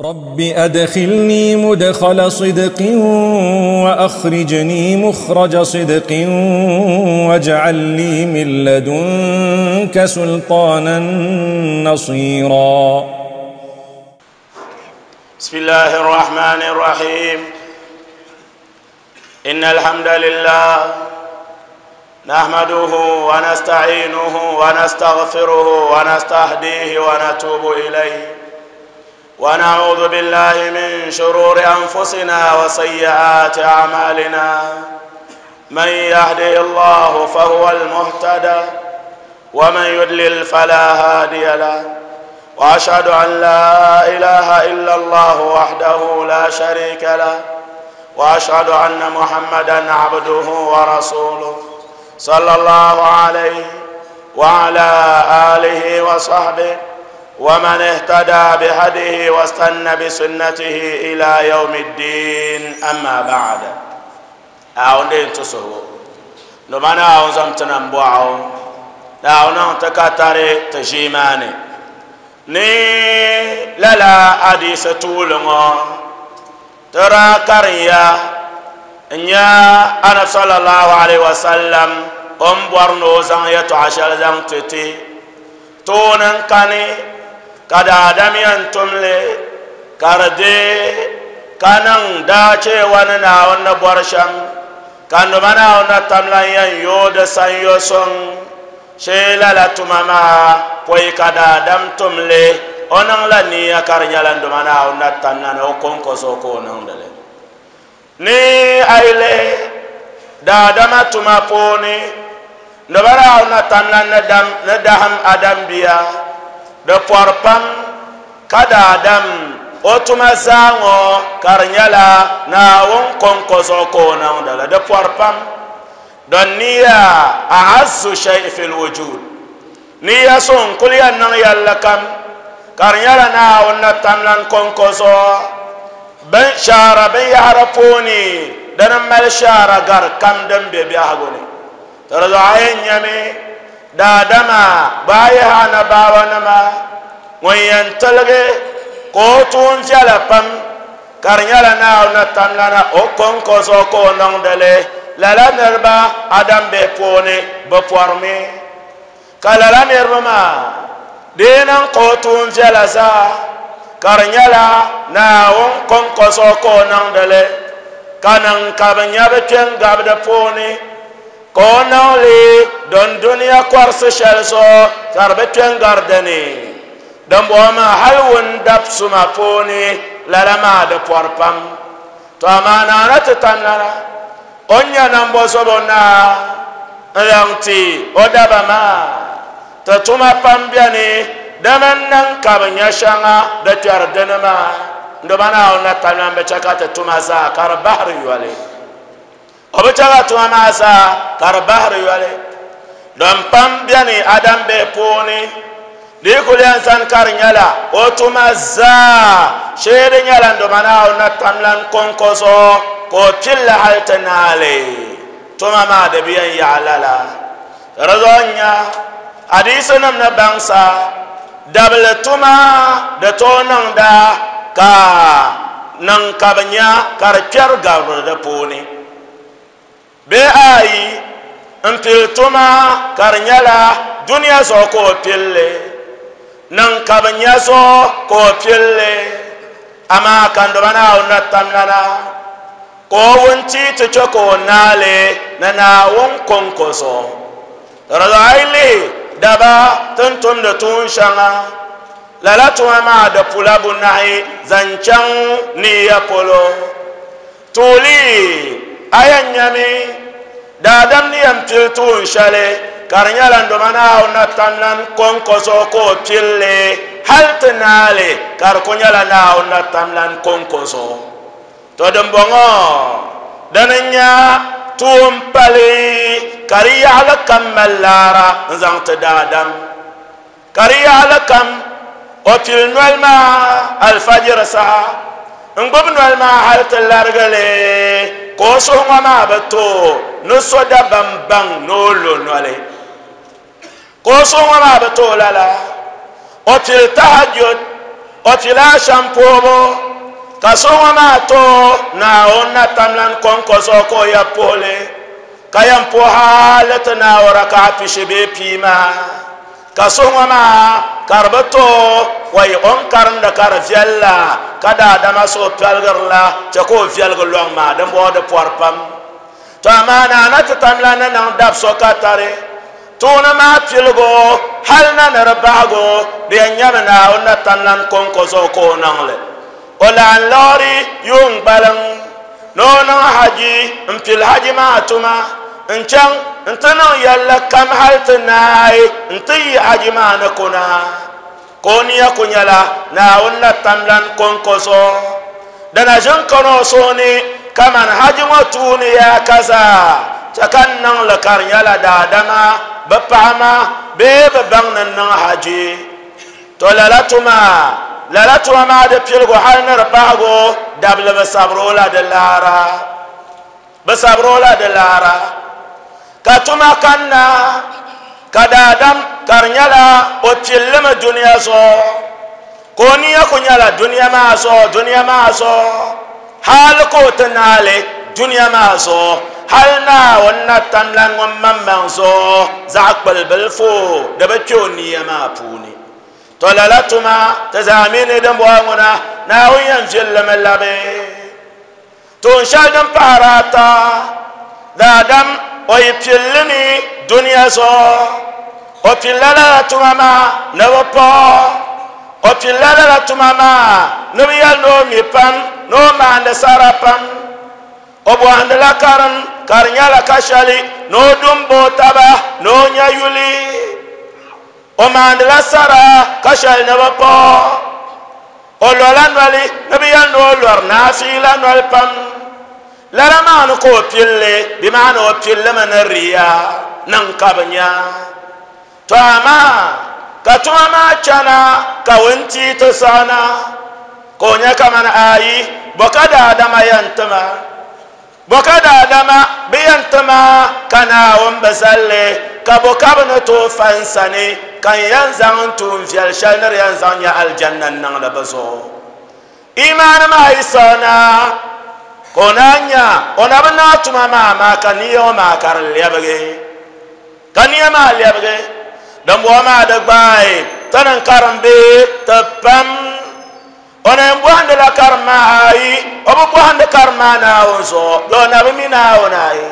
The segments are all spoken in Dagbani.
رب أدخلني مدخل صدق وأخرجني مخرج صدق واجعل لي من لدنك سلطانا نصيرا. بسم الله الرحمن الرحيم. إن الحمد لله نحمده ونستعينه ونستغفره ونستهديه ونتوب إليه، ونعوذ بالله من شرور أنفسنا وسيئات أعمالنا. من يهده الله فهو المهتدى، ومن يضلل فلا هادي له، وأشهد أن لا إله إلا الله وحده لا شريك له، وأشهد أن محمدا عبده ورسوله صلى الله عليه وعلى آله وصحبه ومن اهتدى بهديه واستنى بسنته إلى يوم الدين. أما بعد، أعوذ تصهو نمانا أعوذ تنبوعو أعوذ تكاتري تجيماني ni lala hadisi tuuli ŋɔ tira kariya n-nya Anabi sallallahu alaihi wasallam o ni bɔri ni o zaŋ yɛltɔɣa shɛli zaŋ ti ti tooni n-kani ka daadam yɛn tumli ka di deei ka niŋ daacheewa ni Naawuni ni bɔri shɛm, ka nima Naawuni na tamla yɛn yooi di sanyo suŋ shee. Lala tuma maa pɔi ka daadam tumli o niŋla niya ka di nyɛla nduma Naawuni na tamla ni o kɔŋko zuɣu ka o niŋdili. Ni a yi lihi daadama tuma puuni, nduma Naawuni na tamla ni dahim Adam bia di pɔri pam ka daadam o tuma zaa ŋɔ ka di nyɛla Naawuni kɔŋko zuɣu ka o niŋdili. Di pɔri pam don niya a'azzu shay'i fil wujud, niya so n kuli yɛn niŋ yɛlli kam ka di nyɛla Naawuni na tamlan kɔŋko zuɣu. Bin shaara binyahari puuni dini mali shaara gari kam din be biɛhigu ni. Di zuɣu a yɛn nyami daadama gbaai yihi anabaawanima ŋun yɛn tiligi ka o tuun viɛla pam ka di nyɛla Naawuni na tamlana o kɔŋko zuɣu ka o niŋdili. Lala niriba Adam bihi puuni bi pɔrimi, ka lala niriba maa di yi niŋ ka o tuun viɛla zaa ka di nyɛla Naawuni kɔŋko zuɣu ka o niŋdili, ka niŋ ka bi nya bi kpe n-gabi di puuni ka o niŋ li don dunia kɔrisi shɛli zuɣu ka di bi kpe n-gari dini. Dimbɔŋɔ maa hali wun dab suma puuni lala maa di pɔri pam. To amaa Naana ti tamlana o ni nya nambo zobo naa n-zaŋ ti o daba maa. Ti tuma pam beni dama n-niŋ ka bi nya shɛŋa di kpɛri dini maa. Nduma Naawuni na tamlan bi chɛ ka ti tuma zaa ka di bahiri yoli. O bi chɛ ka tuma maa zaa ka di bahiri yoli. Din pam beni Adam bihi puuni di yi kuli yɛn zani ka di nyɛla o tuma zaa shee di nyɛla nduma Naawuni na tamlan kɔŋko zuɣu ka o pilli hali ti naali tuma maa di bi yɛn yaɣi lala. Di zuɣu n-nya hadiisinim ni baŋsa dabili tuma di tooi niŋda ka niŋ ka bi nya ka di kpɛri gabiri di puuni. Bee ayi n-pili tuma ka di nyɛla dunia zuɣu ka o pilli, niŋ ka bi nya zuɣu ka o pilli, amaa ka nduma Naawuni na tamlana ka o wunti ti chɛ ka o naali ni Naawuni kɔŋko zuɣu. Di zuɣu a yi lihi daba ti ni tumdi tuun shɛŋa, lala tuma maa di pula bunahi zaŋ chaŋ niya polo. Tuuli a yɛn nyami daadam ni yɛn pili tuun shɛli ka di nyɛla nduma Naawuni na tamlan kɔŋko zuɣu ka o pilli hali ti naali ka di ku nyɛla Naawuni na tamlan kɔŋko zuɣu. To dimbɔŋɔ dini n-nya tuun pali ka di yaɣili kam mali laara n-zaŋ ti daadam. Ka di yaɣili kam o pili noli maa alfajiri saha n-gbubi noli maa hali ti larigi li ka o suhu ŋɔ maa bi tooi ni so dabam baŋ ni o lo noli. Ka o suhu ŋɔ maa bi tooi lala o pili tahajjud. O pila ashɛm puhibu, ka so ŋɔ maa tooi Naawuni na tamlan kɔŋko zuɣu ka o ya puhi li, ka yɛn puhi hali ti naai raka'a pishi bee pii maa. Ka so ŋɔ maa ka di bi tooi o yi o ni karimdi ka di viɛl la, ka daadama suhu pɛligiri la, chɛ ka o viɛligi lɔŋ maa, dimbɔŋɔ di pɔri pam. To amaa naa na ti tamla ni niŋ dab so ka tari tuuni maa piligu hal na ni di bahigu, di yɛn nyɛmi Naawuni na tamlan kɔŋko zuɣu ka o niŋ li. O lan liɣiri yuun gbaliŋ ni o niŋ haji m-pili haji maa tuma n-chaŋ nti niŋ yɛlli kam hal ti naai nti yi haji maa ni kuna. Ka o nia ku nyɛla Naawuni na tamlan kɔŋko zuɣu. Di na ʒin kani o suhu ni kaman haji ŋɔ tuuni yaa ka zaa chɛ ka n niŋ li ka di nyɛla daadama bi paɣi ma bee bi baŋ ni n niŋ haji. To lala tuma, lala tuma maa di piligu hal ni di bahigu dabili bi sabiri o la di laara. Bi sabiri o la di laara. Ka tuma kanna ka daadam ka di nyɛla o pilimi dunia zuɣu, ka o nia ku nyɛla dunia maa zuɣu, dunia maa zuɣu, hal ka o ti naai li dunia maa zuɣu, hal Naawuni na tamlan ŋun maŋmaŋ zuɣu zaɣ kpuli bilifu di bi kpe o nia maa puuni. To lala tuma ti zaa mi ni dimbɔŋɔ ŋuna Naawuni yɛn viɛlimi labi. Tuun shɛli din pahiri ata, daadam o yi pilli mi dunia zuɣu, o pilla lala tuma maa ni bi paɣi o, o pilla lala tuma maa ni bi yɛli ni o mi pam, ni o maandi sara pam. O bɔhindila karim ka di nyɛla ka shɛli ni o du m-ba o taba ni o nya yuli. O maandila sara ka shɛli ni bi paɣi o. Lola noli ni bi yɛli ni o lɔri naafiila noli pam. Lala maa ni ka o pilli, bɛ maani o pillimi ni riya niŋ ka bi nya. To amaa ka tuma maa chana ka wuntia ti saɣina ka o nya kaman ayi, bɔ ka daadama yɛn ti ma? Bɔ ka daadama bi yɛn ti ma ka Naawuni bi zali li? Ka bɔ ka bɛ ni tooi fa n sani ka n yɛn zaŋ n tuun viɛl shɛli ni di yɛn zaŋ nya alijanna n-niŋ li bɛ zuɣu? Imaani maa yi siɣi na, ka o naan nya o na bi naai tuma maa amaa ka nia ŋɔ maa ka di lɛbigi. Ka nia maa lɛbigi, dimbɔŋɔ maa di gbaai ti ni n-karim bee ti pam. O na yɛn bɔhindila karim maa ayi, o bi bɔhindi karim maa Naawuni zuɣu, bee o na bi mi Naawuni ayi.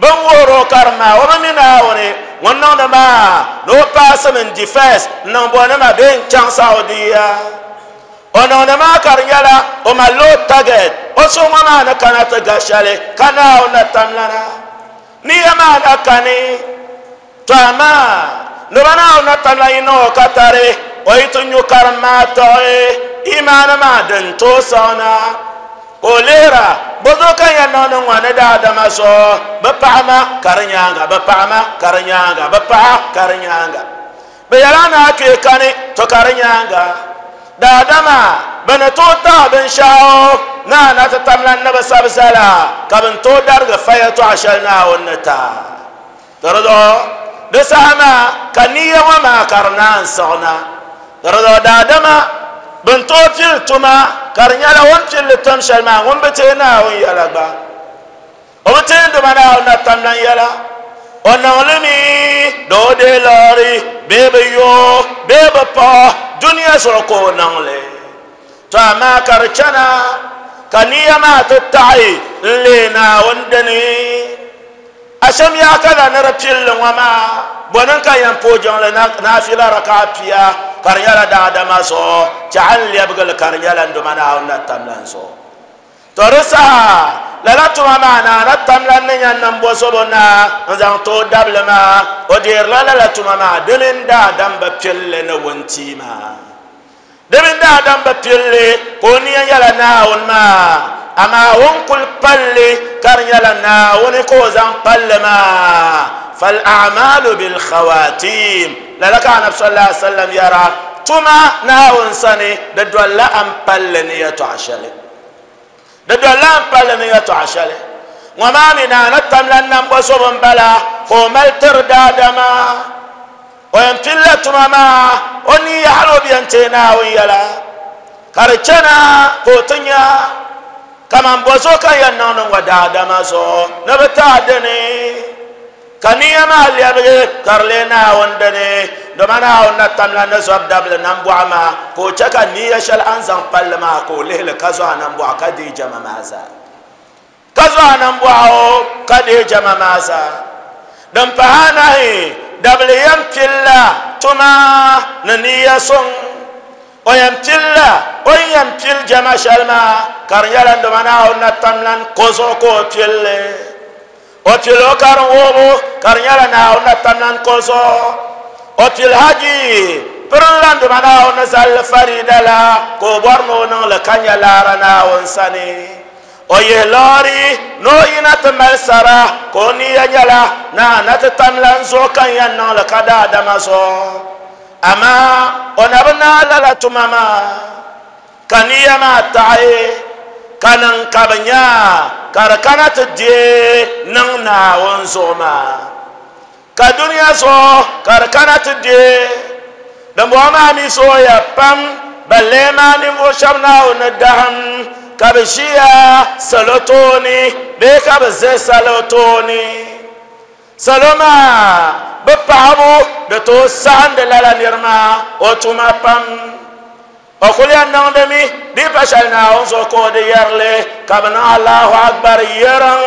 Bɛ ni wuhiri o karim maa, o bi mi Naawuni. Ŋun niŋdi maa ni o paasimi n-di first n-niŋ bɔnima bee n-chaŋ Saudiya. O niŋdi maa ka di nyɛla o malila o target, o suhu ŋɔ maa ni kana ti ga shɛli ka Naawuni na tamlana. Niya maa na kani. To amaa, noba Naawuni na tamla yi niŋ o katari, o yi ti nyu karim maa tiɣi imaani maa din tooi siɣina. Ka o lihira, Bɔzuɣu ka n yɛn niŋdi ŋɔ ni daadama zuɣu? Bɛ paɣi ma ka di nyaaŋa, bɛ paɣi ma ka di nyaaŋa, bɛ paɣa ka di nyaaŋa. Bɛ yɛla ni a kpee kani, to ka di nyaaŋa. Daadama, bɛ ni tooi taɣi binshɛɣu ni a na ti tamla ni bi sabi zala, ka bɛ ni tooi darigi fa yɛtɔɣa shɛli Naawuni ni ti a. Di zuɣu di saha maa ka niya ŋɔ maa ka di naan siɣi na. Di zuɣu daadama bɛn tooi pili tuma ka di nyɛla o ni pili li tim shɛli maa ŋun bi teei Naawuni yɛla gba. O bi teei Duuma Naawuni na tamlan yɛla. O niŋ li mi di o deei liɣiri bee bɛ yo o bee bɛ paɣ o dunia zuɣu ka o niŋ li. To amaa ka di chana ka niya maa ti taɣi n-leei Naawuni dini. Ashem yaa ka la ni di pilli ŋɔ maa, bɔ ni ka yɛn pooi jiŋli naafila raka'a pia ka di nyɛla daadama zuɣu, chɛɣu n-lɛbigi li ka di nyɛla n Duuma Naawuni na tamlan zuɣu. To di saha lala tuma maa naa na tamlan ni nya niŋbo zobo na n-zaŋ ti o dabili maa, o deerila lala tuma maa di mini daadam bi pilli ni wuntia maa. Di mini daadam bi pilli ka o nia nyɛla Naawuni maa, amaa o ni kul pal li ka di nyɛla Naawuni ka o zaŋ pal li maa. Fal-a'maalu bil-khawaatim. Lala ka Anabi sallallahu alaihi wasallam yɛra, Tuma Naawuni sani di dolila a ni pal li ni yɛtɔɣa shɛli. Di dolila a ni pal li ni yɛtɔɣa shɛli. Ŋɔ maa mi Naa ni tamla nambɔzɔbo m-bala ka o mali tiri daadama. O yɛn pilila tuma maa o niya hali o bi yɛn teei Naawuni yɛla, ka di chana ka o ti nya kaman bɔzuɣu ka n yɛn niŋdi ŋɔ daadama zuɣu ni bɛ ti a dini, ka niya maa lɛbigi ka di leei Naawuni dini, dama Naawuni na tamla ni zɔbu dabili nambɔɣu maa, ka o chɛ ka niya shɛli a ni zaŋ palli maa ka o lihi li ka zo a nambɔɣu ka deei jɛma maa zaa. Ka zo a nambɔɣu ka deei jɛma maa zaa. Din pahi anahi, dabili yɛn pilila tuma ni niya suŋ. O yɛn pilila o ni yɛn pili jɛma shɛli maa ka di nyɛla dama Naawuni na tamlan ko zuɣu ka o pili li. O pili o karim wuhibu ka di nyɛla Naawuni na tamlan ko zuɣu. O pili haji pirinla dama Naawuni ni zali li farida la ka o bɔri ni o niŋ li ka nya laara Naawuni sani. O yihi loori ni o yina ti mali sara, ka o niya nyɛla ni a na ti tamla n zuɣu ka n yɛn niŋ li ka daadama zuɣu. Amaa o na bi naai lala tuma maa, ka niya maa taɣi ka niŋ ka bɛ nya ka di kana ti deei niŋ Naawuni zuɣu maa. Ka dunia zuɣu ka di kana ti deei. Dimbɔŋɔ maa mi zooya pam, balle maa ninvuɣ shɛb Naawuni ni dahim ka bɛ ʒiya salo tooni bee ka bɛ ʒe salo tooni. Salo maa bi paɣibu di tooi saɣindi lala nir maa o tuma pam. O kul yɛn niŋdimi di pa shɛli Naawuni zuɣu ka o di yɛri li, ka bɛ niŋ Allahu Akbar yɛriŋ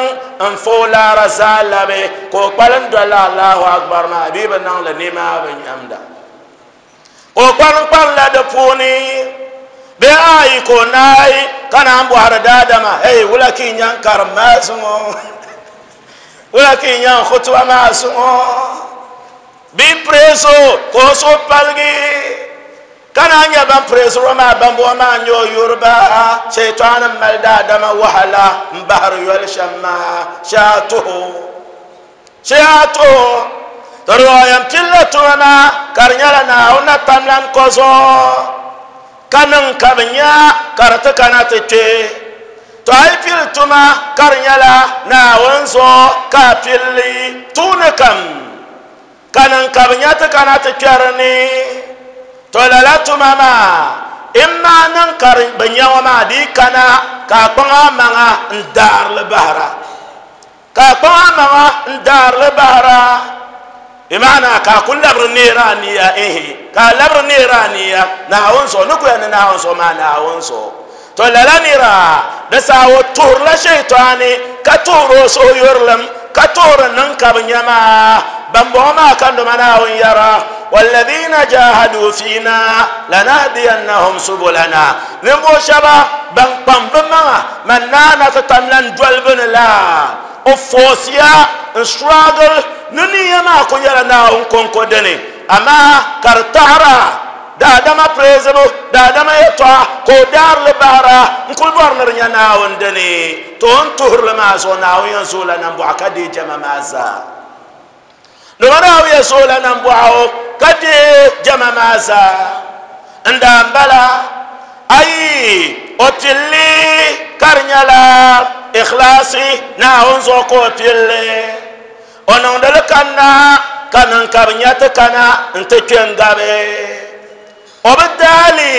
n-fa o laara zaa labi, ka o kpalim dolila Allahu Akbar maa bee bɛ niŋ li nimaa bɛ nyamda. Ka o kpalim kpalimla di puuni bee ayi ka o naai ka naan bɔhiri daadama, Hey, wula ka yi nya n karim maa zuŋɔ? Wula ka yi nya n khutuba maa zuŋɔ? Bee praise o ka o suhu paligi. Ka naan nyɛ ban pireeziri o maa, bambɔŋɔ maa n-nyɛ o yuriba, Shaitani m-mali daadama wahala m-bahiri yoli shɛm maa, shee a tuhi o, shee a tuhi o. To di zuɣu yɛn pilila tuma maa ka di nyɛla Naawuni na tamlan ko zuɣu ka niŋ ka bɛ nya ka di ti kana ti kpe. To a yi pili tuma ka di nyɛla Naawuni zuɣu ka a pili li tuuni kam. Ka niŋ ka bɛ nya ti kana ti kpɛri ni, to lala tuma maa imma niŋ ka bɛ nya ŋɔ maa di yi kana ka a kpaŋ a maŋa n-daari li bahira, ka a kpaŋ a maŋa n-daari li bahira, bɛ maana ka a ku labiri neeri a niya, ehe, ka a labiri neeri a niya Naawuni zuɣu, ni ku yɛli ni Naawuni zuɣu maa Naawuni zuɣu. To lala nira di saha o tuhirila Shaitaani ka tuhiri o suhuyurilim ka tuhiri niŋ ka bi nya maa. Bambɔŋɔ maa ka ndoma Naawuni yɛra, Walladhina jahadu fiina lanahdiyannahum subulana. Ninvuɣu shɛba ban kpaŋ bɛ maŋa man naa na ti tam lan doli bɛ ni la, o force ya n struggle ni niya maa ku nyɛla Naawuni kɔŋko dini, amaa ka di taɣira. Daadama preezibu, daadama yɛtɔɣa ka o daari li bahira n-kul bɔri ni di nya Naawuni dini. To o ni tuhiri li maa zuɣu, Naawuni yɛn zooi la nambɔɣu ka deei jɛma maa zaa. Dama Naawuni yɛn zooi la nambɔɣu ka deei jɛma maa zaa. N daa m-bala, ayi, o pili li ka di nyɛla ikhlaasi, Naawuni zuɣu ka o pili li. O niŋdi li kanna ka niŋ ka bɛ nya ti kana nti kpe n-gabi. O bi daa li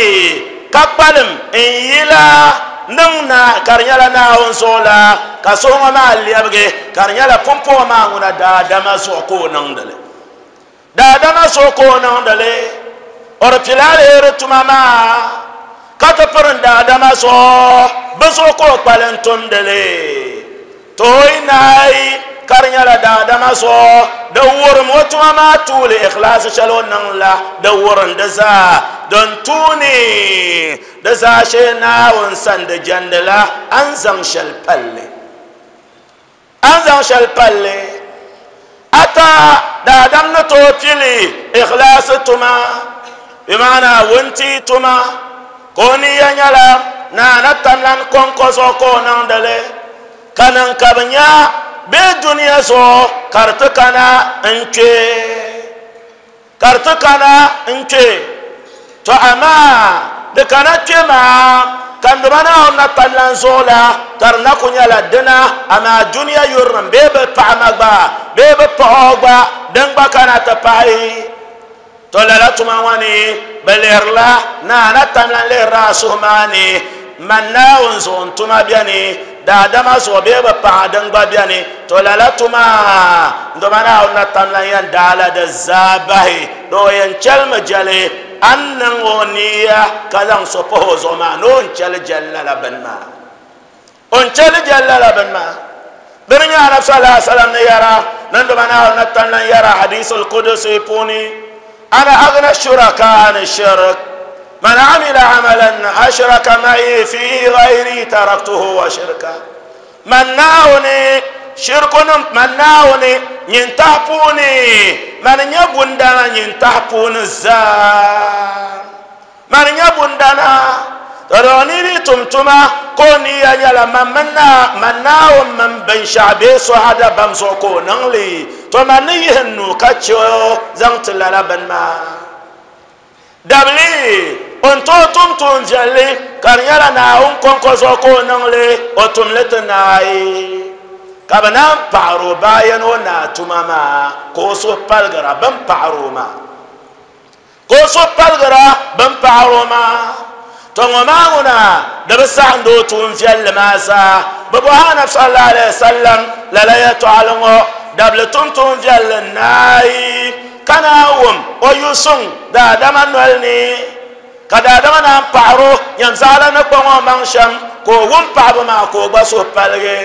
ka kpalim n-yila niŋ na ka di nyɛla Naawuni zuɣu la, ka suhu ŋɔ maa lɛbigi ka di nyɛla pumpɔŋɔ maa ŋuna daadama zuɣu ka o niŋdi li. Daadama zuɣu ka o niŋdi li. O di pili aliheri tuma maa ka ti pirin daadama zuɣu, bɛ zuɣu ka o kpalim tumdi li. Tooi naai ka di nyɛla daadama zuɣu, di wurim o tuma maa tuuli ikhlaasi shɛli o niŋ la, di wurim di zaa. Din tuuni di zaashee Naawuni sani di jɛndila a ni zaŋ shɛli palli. A ni zaŋ shɛli palli ata daadam ni tooi pili ikhlaasi tuma, bɛ maana wuntia tuma, ka o niya nyɛla Naa na tamlan kɔŋko zuɣu ka o niŋdi li, ka niŋ ka bɛ nya bee dunia zuɣu ka di ti kana n-kpe, ka di ti kana n-kpe. To amaa di kana kpe maa ka n Duuma Naawuni na kpa lan zuɣu la, ka di na ku nyɛla dina, amaa dunia yurilim bee bɛ paɣ ma gba bee bɛ paɣ o gba, din gba kana ti pahi. To lala tuma ŋɔ ni bɛ lihirila naa na tamla n-lihirila a suhu maa ni man Naawuni zuɣu n-tuma beni, daadama zuɣu bee bɛ paɣa din gba beni. To lala tuma dama Naawuni na tamla n-yɛn daala di zaa bahi, di o yɛn chɛlimi jɛli a ni niŋ o niya ka zaŋ so pahi o zuɣu maa ni o ni chɛli jɛli lala bini maa. O ni chɛli jɛli lala bini maa. Di ni nyɛ Anabi sallallahu alaihi wasallam ni yɛra, ni dama Naawuni na tamla n-yɛra Hadiisul Qudusi puuni, Ana aghna shuraka ani shirk, man amila amalan ashraka ma'i fihi ghayri taraktuhu wa shirka. Man Naawuni shirkunim, man Naawuni nyintahi puuni, man nyɛ bundana nyintahi puuni zaa. Mani nyɛ bundana, to doo ni di tum tuma ka o niya nyɛla man mini naa, man Naawuni mini binshɛɣu bee soha dabam zuɣu ka o niŋ li, to man ni yihi n nuu ka chɛ o zaŋ ti lala bini maa. Dabili, o ni tooi tum tuun viɛlli ka di nyɛla Naawuni kɔŋko zuɣu ka o niŋ li, o tum li ti naai, ka bɛ naan paɣir o bayan o naa tuma maa ka o suhu paligira bɛ ni paɣir o maa. Ka o suhu paligira bɛn paɣir o maa. Tɔ ŋɔ maa ŋuna di bi saɣindi o tuun viɛlli maa zaa. Bɛ bɔhi Anabi sallallahu alaihi wasallam lala yɛtɔɣili ŋɔ, Dabili tum tuun viɛlli naai ka naan wum o yu suŋ daadama noli ni, ka daadama naan paɣir o nyam zaɣila ni kpaŋ o maŋ shɛm, ka o wum paɣibu maa ka o gba suhu paligi.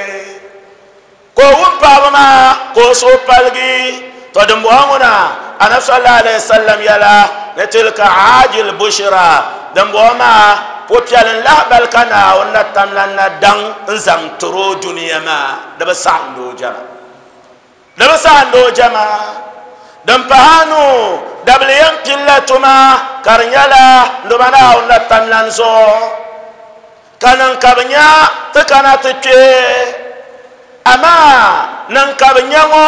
Ka o wum paɣaba maa ka o suhu paligi. To dimbɔŋɔ ŋuna Anabi sallallahu alaihi wasallam yɛla ni tilka aajil bushira, dimbɔŋɔ maa pupiɛlin lahibali ka Naawuni na tamla na daŋ n zaŋ tiri o dunia maa, di bi saɣindi o jɛma. Di bi saɣindi o jɛma. Din pahi anu, dabili yɛn pilila tuma ka di nyɛla ndoma Naawuni na tamlan zuɣu. Ka niŋ ka bɛ nya ti kana ti kpe, amaa niŋ ka bɛ nya ŋɔ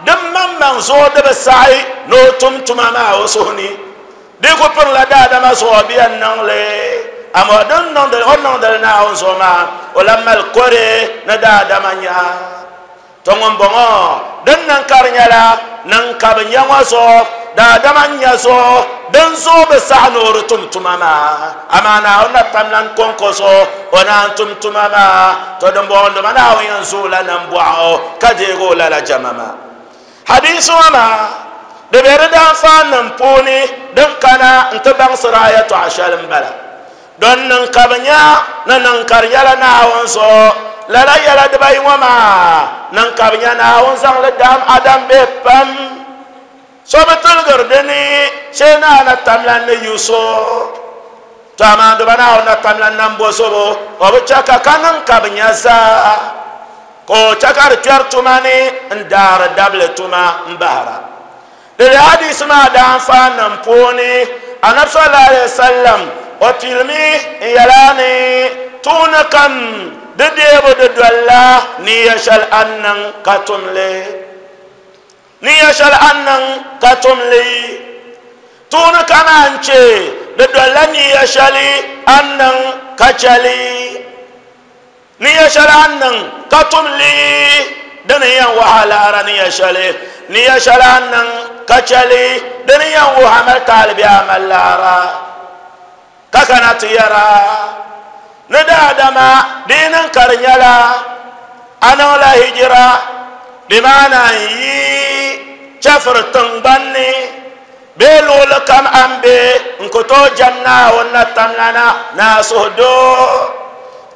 din maŋmaŋ zuɣu di bi saɣi ni o tum tuma maa o suhu ni. Di ku pirila daadama zuɣu bɛ yɛn niŋ li, amaa o ni niŋdi li Naawuni zuɣu maa, o lan mali kore ni daadama nya. To ŋumbɔŋɔ din niŋ ka di nyɛla niŋ ka bɛ nya ŋɔ zuɣu, daadama n-nya zuɣu, dinzuɣu bɛ saɣi ni o di tum tuma maa. Amaa Naawuni na tamlan kɔŋko zuɣu o naan tum tuma maa. To dimbɔŋɔ dama Naawuni yɛn zooi la nambɔɣu ka deeg o lala jɛma maa. Hadiisi ŋɔ maa di be di daanfaanim puuni din kana nti baŋsiri a yɛtɔɣa shɛli m-bala. Don niŋ ka bɛ nya ni niŋ ka di nyɛla Naawuni zuɣu. Lala yɛla dibayi ŋɔ maa niŋ ka bɛ nya Naawuni zaŋ li dam Adam bihi pam. So bi tiligiri di ni shee ni a na tamla ni yu so. To amaa duba Naawuni na tamla nambo zobo, o bi chɛ ka ka niŋ ka bɛ nya zaa, ka o chɛ ka di kpɛri tuma ni n-daari dabili tuma m-bahira. Di hadisi maa daanfaanim puuni, Anabi sallallahu alayhi wasallam o pilimi n yɛla ni tuuni kam di deebu di dolila niya shɛli a ni niŋ ka tum li. Niya shɛli a ni niŋ ka tum li. Tuuni kam a ni chɛ di dolila niya shɛli a ni niŋ ka chɛ li. Niya shɛli a ni niŋ ka tum li di ni yɛn wuhi a lahira niya shɛli. Niya shɛli a ni niŋ ka chɛ li di ni yɛn wuhi a mali taali bee a mali lahira. Ka kana ti yɛra ni daadama di yi niŋ ka di nyɛla a niŋla hijira, di maana n-yi chɛfiri tiŋgbani ni Bee luɣili kam a ni be n-ku tooi jɛm Naawuni na tamlana ni a suhudoo,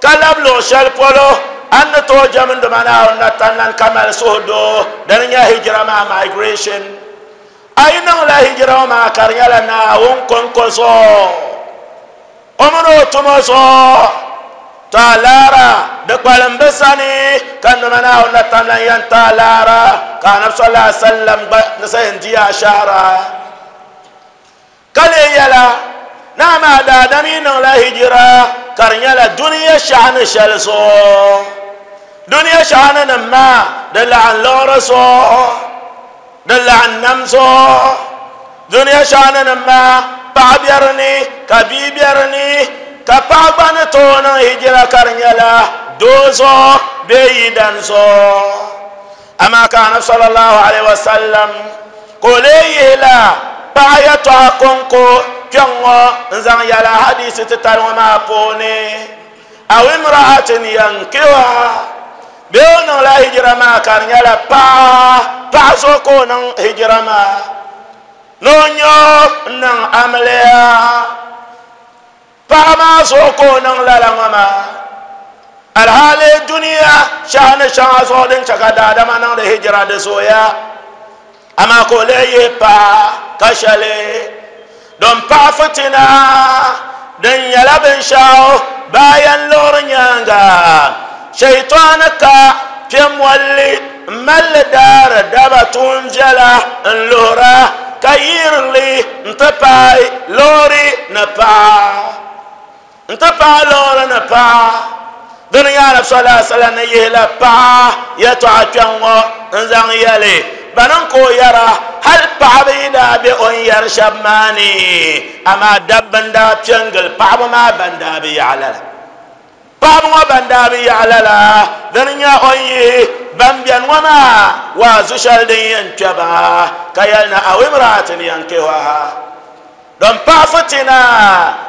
ka lab luɣ shɛli polo a ni ni tooi jɛm n Duuma Naawuni na tamlana ka mali suhudoo, dini n-nyɛ hijira maa, migration. A yi niŋla hijira ŋɔ maa ka di nyɛla Naawuni kɔŋko zuɣu, O mini o tumo zuɣu, tɔ a laara di kpalim bɛ sani, ka nima Naawuni na tam lan yɛn ti a laara, ka Anabi sallallahu alaihi wasallam gba ni sa yɛn di a shɛhira. Ka leei yɛla, ni amaa daadam yi niŋla hijira ka di nyɛla dunia shɛhi ni shɛli zuɣu, dunia shɛhi ni nim maa di laɣim liɣiri zuɣu, Di laɣim nam zuɣu. Dunia shɛɣuninim maa, paɣa be di ni, ka bia be di ni, ka paɣa gba ni tooi niŋ hijira ka di nyɛla doo zuɣu bee yidan zuɣu. Amaa ka Anabi sallallahu alaihi wasallam ka o lee yihi la Paɣa yɛltɔɣa kɔŋko kpɛŋ ŋɔ n zaŋ yɛla hadisi titali ŋɔ maa puuni. Aw imra'atin yankihuha, bee o niŋla hijira maa ka di nyɛla paɣa, paɣa zuɣu ka o niŋ hijira maa ni o nya o n-niŋ amiliya. Paɣa maa zuɣu ka o niŋ lala ŋɔ maa. Alhaali dunia shɛhi ni shɛŋa zuɣu din chɛ ka daadama niŋdi hijira di zooya, amaa ka o lee yihi paɣa ka shɛli din paɣi fitina din nyɛla binshɛɣu baayan liɣiri nyaaŋa. Shɛitɔni ka kpe molli m-mali li daari daba tuun viɛla n-luhira ka yiiri li nti paai loori ni paɣa. Nti paai loori ni paɣa. Dini nyɛ Anabi sallallahu alaihi wasallam ni yihi la paɣa yɛltɔɣa kpɛŋ ŋɔ n-zaŋ yɛli ba niŋ ka o yɛra, hali paɣaba yi daa be o ni yɛri shɛba maa ni, amaa dabba n-daa kpe n-gili paɣaba maa ban daa bi yaɣi lala. Paɣaba ŋɔ ban daa bi yaɣi lala, dini nyɛ o ni yihi ban beni ŋɔ maa waazu shɛli din yɛn kpe ba, ka yɛli ni aw imra'atin yankihuha, Din pahi fitina,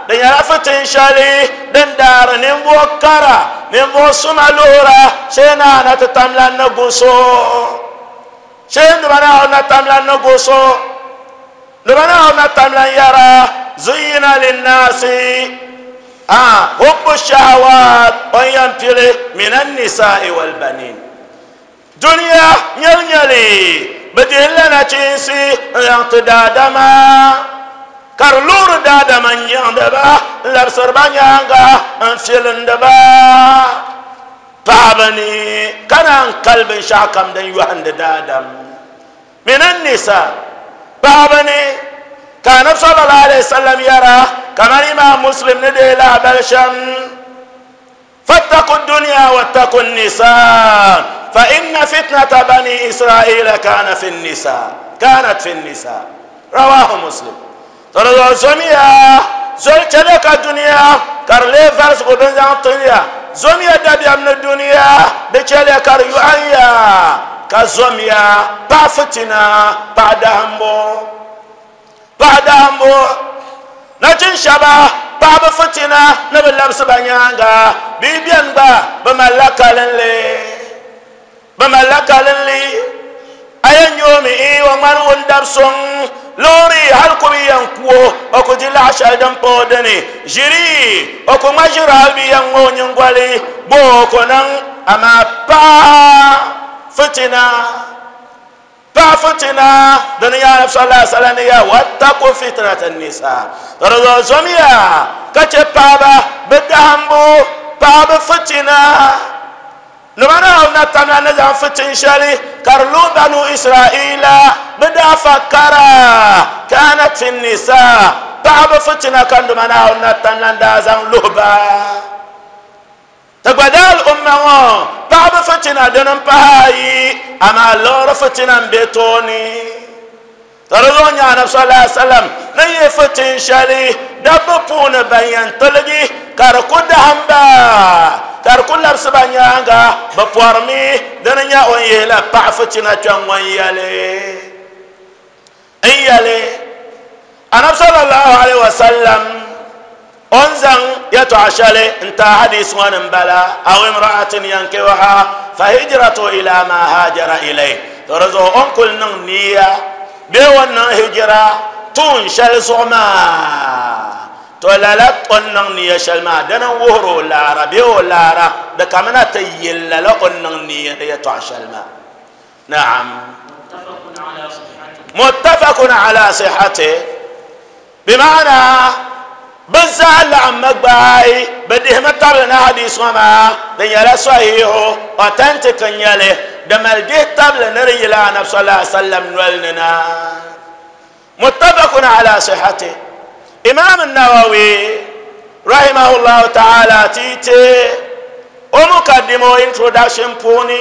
di nyɛla fitin shɛli din daari ninvuɣ kara, ninvuɣ suma luhira, shee ni a na ti tam lan ni gu so. Shee ni ba ni a na tam lan ni gu so. Ni ba ni a na tam lan yɛra, Zuyyina linnaasi hubbu shahawaat, o ni yɛn pili mina nisaa'i walbanin. Dunia nyɛlinyɛli, bɛ dihila nachiinsi n-zaŋ ti daadama, ka di luɣiri daadama n-nyaŋdi ba, n-labisiri ba nyaaŋa n-filindi ba paɣiba ni, ka naan kali binshɛɣukam din yɔhindi daadam mini nisa paɣiba ni. Ka Anabi sallallahu alaihi wasallam yɛra, kamani Imaam Muslim ni deei lahibali shɛm, فاتقوا الدنيا واتقوا النساء فإن فتنة بني إسرائيل كان في النساء كانت في النساء رواه مسلم ترى زميا زول تلك الدنيا كارلي فارس قدن زان زميا دبيا من الدنيا بچلي كار يعيا كزميا بافتنا بعدهم Paɣa daambu nachin shɛba paɣaba fitina ni bi labisi ba nyaanga bee bɛni gba bi malila kalinli bi malila kalinli a yɛn nyɛ o mi ii o ŋmani ŋun dabi suŋ loori hali ku bi yɛn ku o o ku di laɣa shɛli din pa o dini ʒiri o ku ŋma ʒiri hali bi yɛn ŋma o nyingoli bo o ku niŋ amaa paɣa fitina Paɣa fitina dini nyɛ Anabi sallallahu alaihi wasallam ni ya wattaqu fitnata nisa di zuɣu zomiya ka chɛ paɣaba bi dahimbu paɣaba fitina nima Naawuni na tamla ni zaŋ fitin shɛli ka di lu banu Israila bi daafa kara kanat fi nisa paɣaba fitina ka nima Naawuni na tamla n daa zaŋ luhi ba. Ti gba daa al'umma ŋɔ paɣaba fitina dini m-pahi ayi, amaa liɣiri fitina m-be tooni. Ka di zuɣu nyɛ Anabi sallallahu alaihi wasallam ni yihi fitin shɛli dabba puuni ban yɛn tiligi ka di ku dahim ba, ka di ku labisi ba nyaaŋa, bɛ pɔrimi dini nyɛ o ni yihila paɣa fitina kpɛŋ ŋɔ n-yɛli. N yɛli Anabi sallallahu alaihi wasallam o ni zaŋ yɛtɔɣa shɛli n-ti a hadisi ŋɔ ni m-bala, aw imra'atin yankihuha fa hijratu ila ma hajara ilayh, to di zuɣu o ni kuli niŋ niya bee o ni niŋ hijira tuun shɛli zuɣu maa, to lala o ni niŋ niya shɛli maa dini n-wuhiri o laara bee o laara di kamina ti yili lala o ni niŋ niya ni yɛtɔɣa shɛli maa. Naam. Muttafaqun ala sihhati. Bimaana bɛ zaa laɣimmi gbaai bɛ dihimi tabili ni hadis ŋɔ maa di nyɛla sahihu, authentic n-nyɛ li, di mali dihi tabili ni di yila Anabi sallallahu alaihi wasallam noli ni na. Muttafaqun ala sihhati. Imam Nawawi rahimahullahu ta'ala ti ti o mukaddima o introduction puuni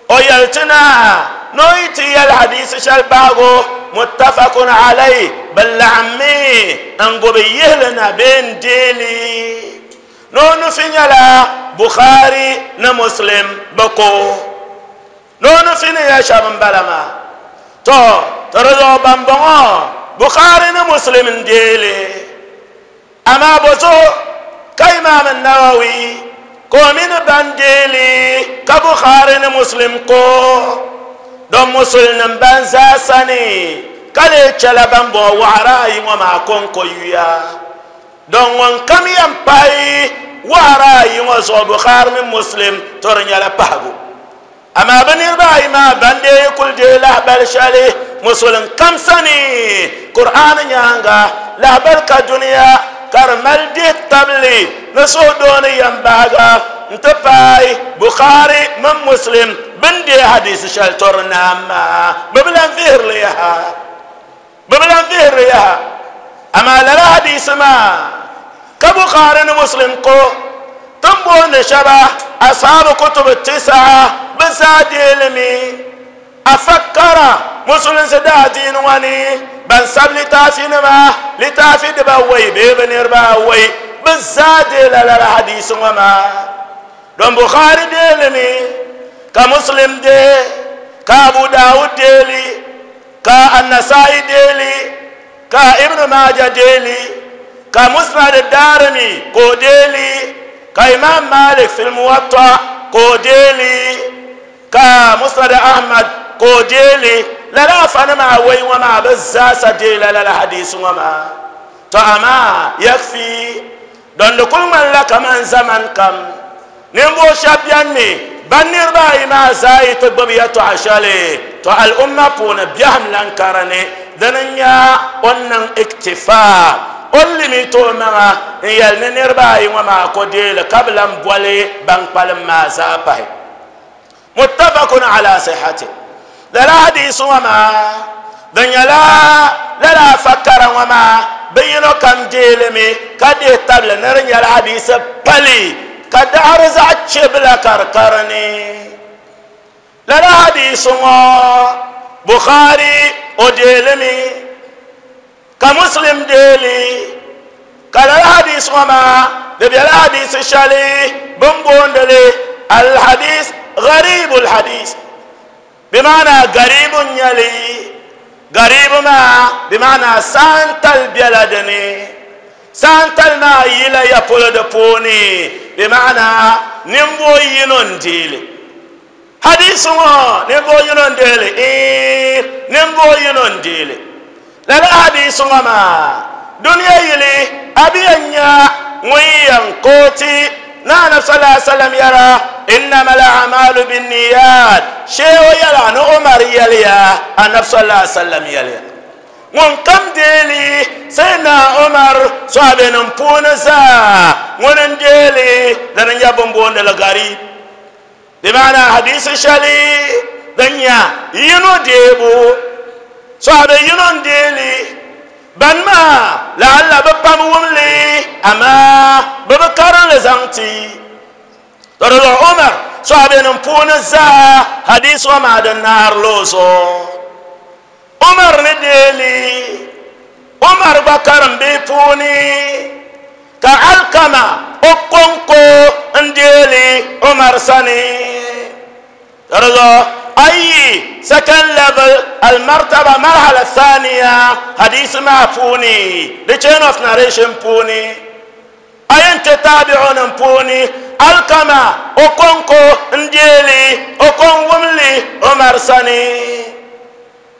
o yɛli ti na ni o yi ti yɛli hadisi shɛli bahigu muttafaqun alayhi bi laɣimmi n gubi yihili na bee n deeli ni o nufi nyɛla Bukhari ni Muslim bi ko ni o nufi ni ya shɛba n bala maa. To, ti di zuɣu bambɔŋɔ Bukhari ni Muslim n deeli. Amaa bozuɣu ka Imam Nawawi ka o mini ban deeli ka Bukhari ni Muslim ko don musulnim ban zaa sani ka lee chɛla ban bɔŋɔ waɣara ayi ŋɔ maa kɔŋko yuya. Don ŋun kam yɛn pahi waɣara ayi ŋɔ zuɣu Bukhari mini Muslim to di nyɛla pahigu. Amaa bɛ niriba ayi maa ban deei kuli deei lahibali shɛli Musulin kam sani Kur'aani nyaaŋa, lahibali ka dunia ka di mali dihi tabili ni suhudoo ni yɛmbahiga n-ti paai Bukhari mini Muslim bɛ ni deei hadiisi shɛli to di naam maa bɛ bi lan vihiri li yaha. Bɛ bi lan vihiri li yaha. Amaa lala hadiisi maa ka Bukhari ni Muslim ko ti ni booni shɛba Ashaabu kutubu tisaa bɛ zaa deei li mi. Afakkara Musulinsi daadiini ŋɔ ni ban sabi litaafinima, litaafi dibawɔi bee bɛ niriba awɔi, bɛ zaa deei la lala hadiisi ŋɔ maa. Don Bukhari deei li mi ka Muslim deei ka Abu Dawud deei li. Ka An-Nasa'i deei li, ka Ibn Majah deei li, ka Musnad Darimi ka o deei li, ka Imam Malik fil Muwatta ka o deei li, ka Musnad Ahmad ka o deei li. Lala afanima awoi ŋɔ maa bɛ zaasa deei la lala hadiisi ŋɔ maa. To amaa yakfi don di kuli ŋmanila kaman zamani kam ninvuɣ shɛb bɛn mi ban niriba ayi maa zaa yi ti gbibi yɛtɔɣa shɛli, to al'umma puuni biɛhim lan ka di ni. Dini n-nyɛ o ni niŋ iktifaa, o ni limit o maŋa n-yɛli ni niriba ayi ŋɔ maa ko deei li ka bi lan boli ban kpalim maa zaa pahi. Muttafaqun ala sihhati. Lala hadiisi ŋɔ maa di nyɛla lala afa kara ŋɔ maa bɛ yino kam deei li mi ka dihi tabili ni di nyɛla hadiisi pali ka daɣiri zaɣ chebila ka di ka di ni. Lala hadiisi ŋɔ Bukhari o deei li mi ka Muslim deei li ka lala hadiisi ŋɔ maa di bela hadiisi shɛli bɛ ni booni li al-hadis gharib al-hadis bimaana garibu n-nyɛ li garibu maa bimaana saantali bela di ni saantali maa yila ya polo di puuni bimaana ninvuɣ yino n-deei li Hadiisi ŋɔ ninvuɣ yino n-deei li? Iin, ninvuɣ yino n-deei li. Lala hadiisi ŋɔ maa dunia yili a bi yɛn nya ŋun yɛn kooti ni Anabi sallallahu alaihi wasallam yɛra, Innamal a'malu binniyat, shee o yɛla ni Umar yɛliya, Anabi sallallahu alaihi wasallam yɛliya. Ŋun kam deei li Sayyidina Umar sɔhabinim puuni zaa ŋuni n-deei li, dini n-nyɛ bɛ ni booni li gariib. Di maana hadiisi shɛli din nya yino deebu, sɔhibe yino n-deei li, ban maa la'alla bɛ pam wum li, amaa bɛ bi karim li zaŋ ti. To di zuɣu Umar sɔhibenim puuni zaa hadiisi ŋɔ maa di naari li o zuɣu. Umar ni deei li, Umar gba karim bihi puuni ka Alkama o kɔŋko n-deei li Umar sani. Di zuɣu a yi second level al-martaba marhala thaniya hadiisi maa puuni, the chain of narration puuni, A yɛn ti taabi'unim puuni Alkama o kɔŋko n-deei li, o ko n-wum li Umar sani.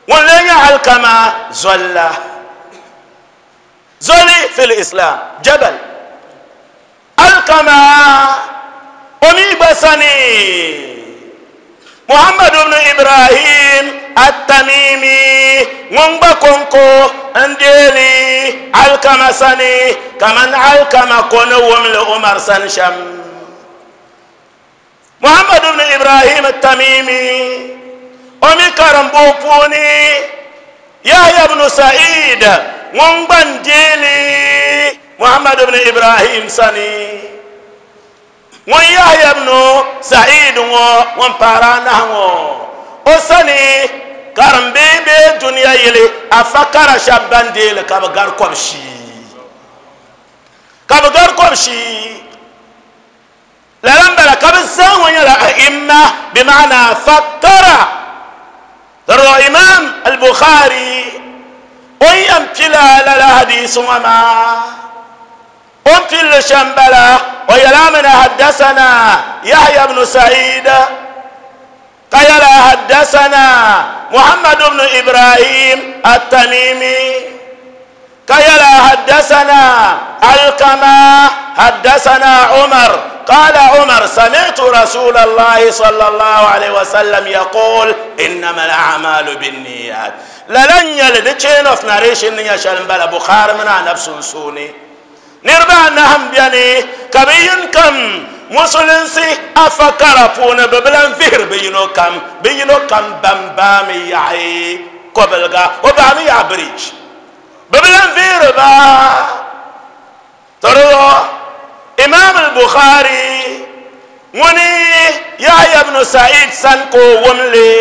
Ŋun lee nyɛ Alkama zoli la, zoli fil Islam, jabal. Alkama o mi gba sani Muhammad ibn Ibrahim at-Tamimi ŋun gba kɔŋko n-deei li Alkama sani kaman Alkama ko ni wum li Umar sani shɛm. Muhammad ibn Ibrahim at-Tamimi o mi karimbu puuni Yahya ibn Sa'id ŋun gba n-deei li Muhammad ibn Ibrahim sani. Ŋun Yahya ibn Sa'id ŋɔ ŋun pahiri anahi ŋɔ o sani karimbihi bee dunia yili afa kara shɛba ban deei li ka bɛ gari kɔbishii. Ka bɛ gari kɔbishii. Lala m-bala ka bɛ zaa ŋɔ nyɛla a'imma bimaana fakkara. Di zuɣu Imam al-Bukhari O ni yɛn pila lala hadiisi ŋɔ maa, o ni pilli shɛm bala, o yɛla mi ni haddasana Yahya bnu Sa'id, ka yɛla haddasana Muhammad bnu Ibrahim at-Tamimi, ka yɛla haddasana Alkama haddasana Umar قال عمر سمعت رسول الله صلى الله عليه وسلم يقول إنما الأعمال بالنيات lala n nyɛli di chain of narration ni nyɛ shɛli n bala Bukhari mini anabi sunsuuni niriba anahi n bɛni ka bi yini kam musulinsi afa kara puuni bi bi lan vihiri bi yino kam bi yino kam ban baami yaɣi kobilga o baami yaɣi bridge bi bi lan vihiri ba tɔrɔ Imam al-Bukhari ŋuni Yahya ibn Sa'id sani ka o wumli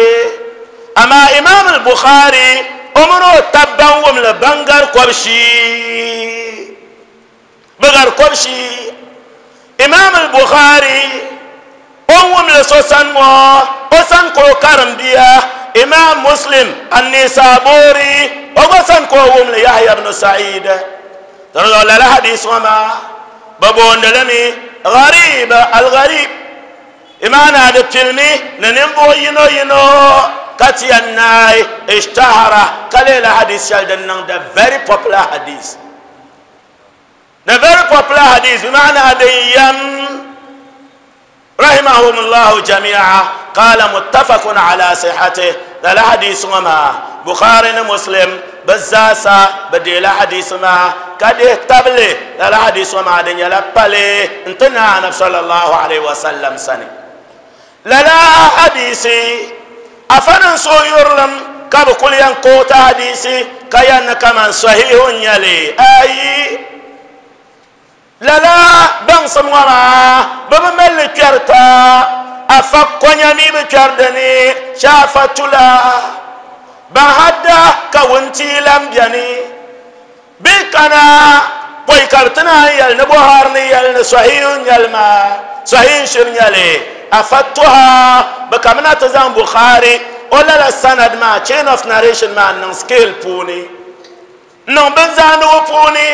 amaa Imam al-Bukhari o mini o taba ban wumli ban gari kɔbishii bɛ gari kɔbishii Imam al-Bukhari o ni wumli so sani ŋɔ o sani ka o karim bia Imam Muslim an-Nisaburi o gba sani ka o wumli Yahya ibn Sa'id Dinzuɣu lala hadiisi ŋɔ maa bɛ booni li mi Gharib al-Gharib, imaana di pilimi ni ninvuɣ yino yino ka ti yɛn naai ishtahara ka leela hadiis shɛli din niŋ the very popular hadith. The very popular hadith bimaana din yɛm Rahimahum Allahu jami'a qala muttafaqun ala sihhatih lala hadiisi ŋɔ maa Bukhari ni Muslim bɛ zaasa bɛ deela hadiisi maa ka dihi tabili lala hadiisi ŋɔ maa di nyɛla pali n-ti Naa Anabi sallallahu alayhi wa sallam sani. Lala hadiisi afa ni suhuyurilim ka bɛ kuli yɛn kooti hadiisi ka yɛn ni kaman sahihu n-nyɛ li ayi. Lala baŋsim ŋɔ maa bɛ bi mali li kpɛrita afa konya mi bi kpɛri di ni shaafa tula ban hadda ka wuntia lan beni bɛ kana pɔi ka bɛ ti naan yɛli ni Buhari ni yɛli ni Sahih n-nyɛli maa Sahih n-shiri nyɛli afa tuha bɛ kamina ti zaŋ Bukhari o lala sanad maa chain of narration maa n-niŋ scale puuni N-niŋ binzaandigu puuni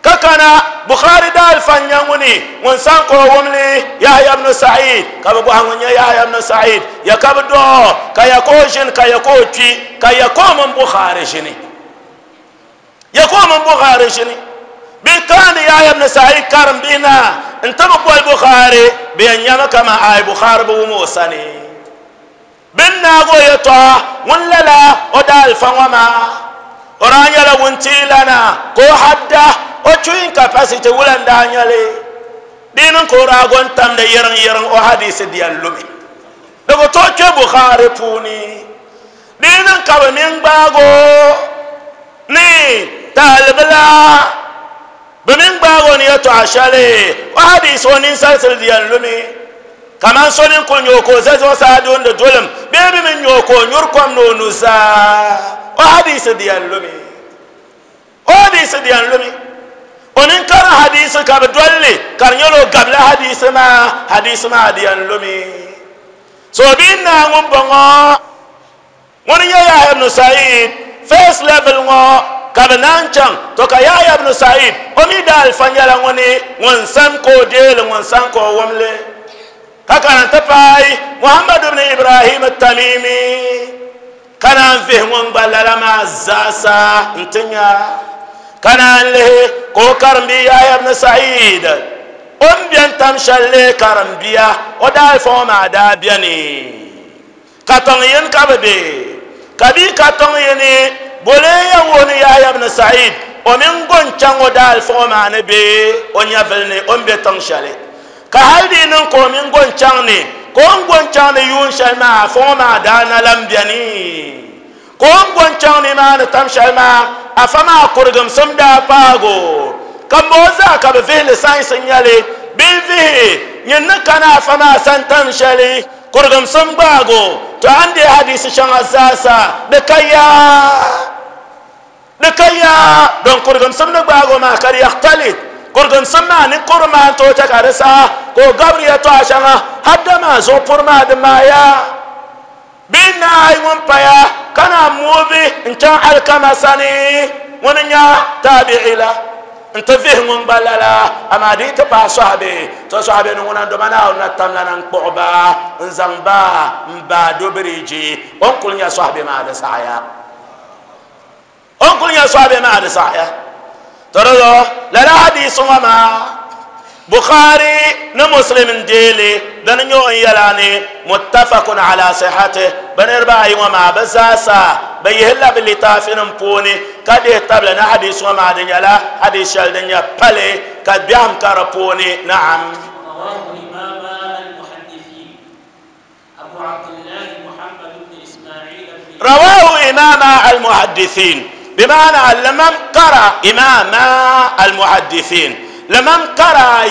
ka kana Bukhari daalifa n-nyɛ ŋuni ŋun san ka o wum li Yahya ibn Sa'id ka bɛ bɔhi ŋun nyɛ Yahya ibn Sa'id ya ka bɛ dɔɣi ka ya ka o ʒini ka ya ka o kpi ka ya ka o mini Bukhari ʒini ya ka o mini Bukhari ʒini bɛ kaandi Yahya ibn Sa'id karim bihi na n-ti bi boli Bukhari bɛ yɛn nyami kaman aai Bukhari bi wum o sani. Bɛ ni naagi o yɛtɔɣa ŋun lala o daalifa ŋɔ maa, o daa nyɛla wuntiilana ka o hadda o chewing capacity wula n-daa nyɛ li. Di yi niŋ ka o daa go n-tamdi yiriŋ yiriŋ o hadiisi di yɛn lumi. Di ku tooi kpe Bukhari puuni. Di yi niŋ ka bɛ mini gbaagi o ni taalibila, bɛ mini gbaagi o ni yɛtɔɣa shɛli o hadiisi o ninsalisili di yɛn lumi. Kaman so ni kul nya o ka o za zuɣusaa duundi dulim bee bɛ mi nya o ka o nyuri kom ni o nuzaa, o hadiisi di yɛn lumi. O hadiisi di yɛn lumi. O ni karim hadiisi ka bɛ doli li ka di nyɛla o gabila hadiisi maa, hadiisi maa di yɛn lumi. So bɛ naa ŋun bɔŋɔ. Ŋuni n-nyɛ Yahya ibn Sa'id, first level ŋɔ ka bɛ naan chaŋ, to ka Yahya ibn Sa'id o mi daalifa nyɛla ŋuni ŋun san ka o deei li ŋun san ka o wum li ka kana n-ti paai Muhammad ibn Ibrahim Tamimi ka naan vihi ŋun gba lala maa zaasa n-ti nya ka naan lihi ka o karimbi Yahya ibn Sa'id o ni beni tam shɛli lee karimbiya o daalifa ŋɔ maa daa beni. Ka tiŋ yini ka bɛ be, ka bɛ yi ka tiŋ yini, boli ya wuhi ni Yahya ibn Sa'id, o mini go n-chaŋ o daalifa ŋɔ maa ni be o nyɛvili ni o ni be tiŋ shɛli. Ka hali di yi niŋ ka o mini go n-chaŋ ni, ka o ni go n-chaŋ ni yuun shɛli maa afa ŋɔ maa daa na lan beni. Ka o ni go n-chaŋ nimaani tam shɛli maa, afa maa kurigimsim daa paag o. Ka m ba o zaa ka bɛ vihi li sainsi n-nyɛ li, bɛ yi vihi nyin ni kana afa maa sani tam shɛli, Kurigimsim gbaag o, to a ni deei hadiisi shɛŋa zaasa di ka yaa. Di ka yaa, don kurigimsim ni gbaag o maa ka di yakhtalit. Kurigimsim maa ni kuri maa n-tooi chɛ ka di saha ka o gabiri yɛtɔɣa shɛŋa hadda maa zuɣu puri maa di maaya. Bɛ naai ŋun paya ka na muubi n chaŋ Alikama sani ŋuni n-nyɛ taabi'i la n-ti vihi ŋun gba lala, amaa di yi ti paai sɔhibe, to sɔhibe ni ŋuna n-doma Naawuni na tamla na n-kpuɣi ba n-zaŋ ba m-baai do biriiji, o ni kuli nya sɔhibe maa di saɣiya. O ni kuli nya sɔhibe maa di saɣiya. To di zuɣu lala hadiisi ŋɔ maa Bukhari ni Muslim n-deei li, dini n-nyɛ o ni yɛli a ni muttafaqun ala sihhatih, bɛ niriba ayi ŋɔ maa bɛ zaasa bɛ yihila bɛ litaafinim puuni ka dihi tabili ni hadiisi ŋɔ maa di nyɛla hadiis shɛli din nyɛ pali ka biɛhim ka di puuni. Naam. رواه إمام المحدثين بمعنى لمن قرأ إمام المحدثين لمن قرأ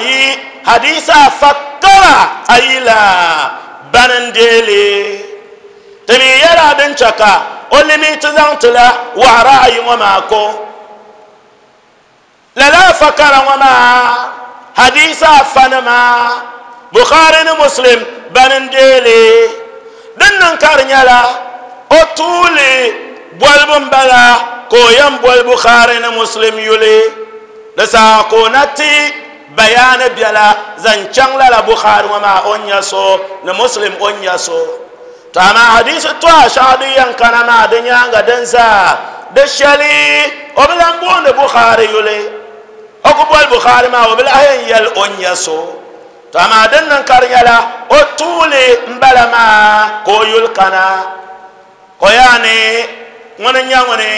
حديثا فكر أي لا بننديلي تبي يلا بنشكا قل مي تزانتلا وعرأي وماكو Lala fakara ŋɔ maa, hadiisi afanima, Bukhari ni Muslim bani n-deei li. Din niŋ ka di nyɛla o tuuli bolibu m-bala ka o yɛn boli Bukhari ni Muslim yuli. Di saha ka o na ti bayaani biɛla zaŋ chaŋ lala Bukhari ŋɔ maa o ni nya so ni Muslim o ni nya so. To amaa hadiisi tɔha shɛŋa din yɛn kana maa di nyaaŋa din zaa di shɛli o bi lahi booni Bukhari yuli. O ku boli Bukhari maa o bi lahi yɛn yɛli o ni nya so. To amaa din niŋ ka di nyɛla o tuuli m-bala maa ka o yuli kana. O yaani ŋuni n-nyɛ ŋuni?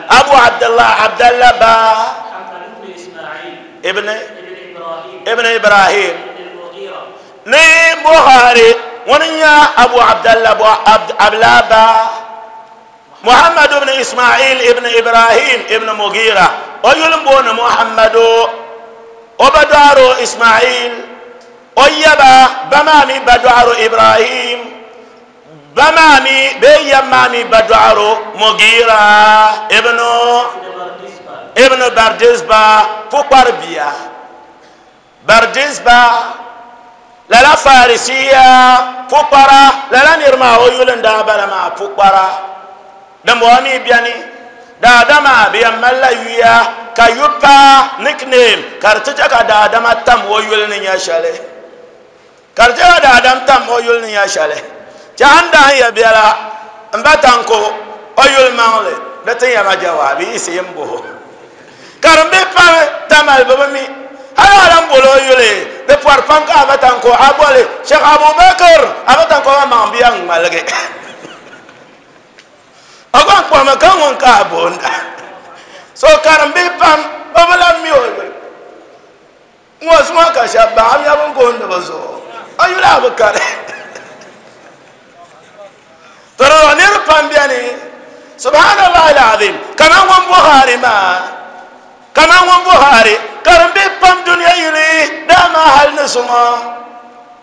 Abu Abdullah Abdallah ba ibn ibn Ibrahim. Ni Bukhari ŋuni n-nyɛ Abu Abdallah Ablaba Muhammad ibn Ismail ibn Ibrahim ibn Mughira o yuli m-booni Muhammadu o ba dɔɣiro Ismail o yaba ba maa mi ba dɔɣiro Ibrahim ba maa mi bee yab maa mi ba dɔɣiro Mughira ibn ibn Bardizba pukpari bia. Bardizba, lala Farisiya pukpara, lala nir maa o yuli n-daa bala maa pukpara. Dimbɔŋɔ mi beni, daadama bɛ yɛn malila yuya ka yu pa nickname ka di ti chɛ ka daadama tam o yuli ni nya shɛli. Ka di chɛ ka daadam tam o yuli ni nya shɛli. Chɛ a ni daa ya biɛla m ba Tanko o yuli maŋli di ti ya ma jawaabi yiɣisi yi m-bɔh o. Karimbihi pam Tamale bɛ bi mi hali a lan boli o yuli di pɔri pam ka a ba Tanko a boli Sheikh Abubakar a ba Tanko maa maŋ bia ŋ-ŋmaligi o gba n-kpuɣimi ka ŋun ka a boonda. So karimbihi pam bɛ bi lan mi o yuli. Ŋɔ zuŋɔ ka shɛba baɣa nya bɛ ni gooni bɛ zuɣu, a yuli a bi kari. To di zuɣu niriba pam beni, subhanallah al-azim, kaman ŋun Buhari maa, kaman ŋun Buhari, karimbihi pam dunia yili dama hali ni zuŋɔ.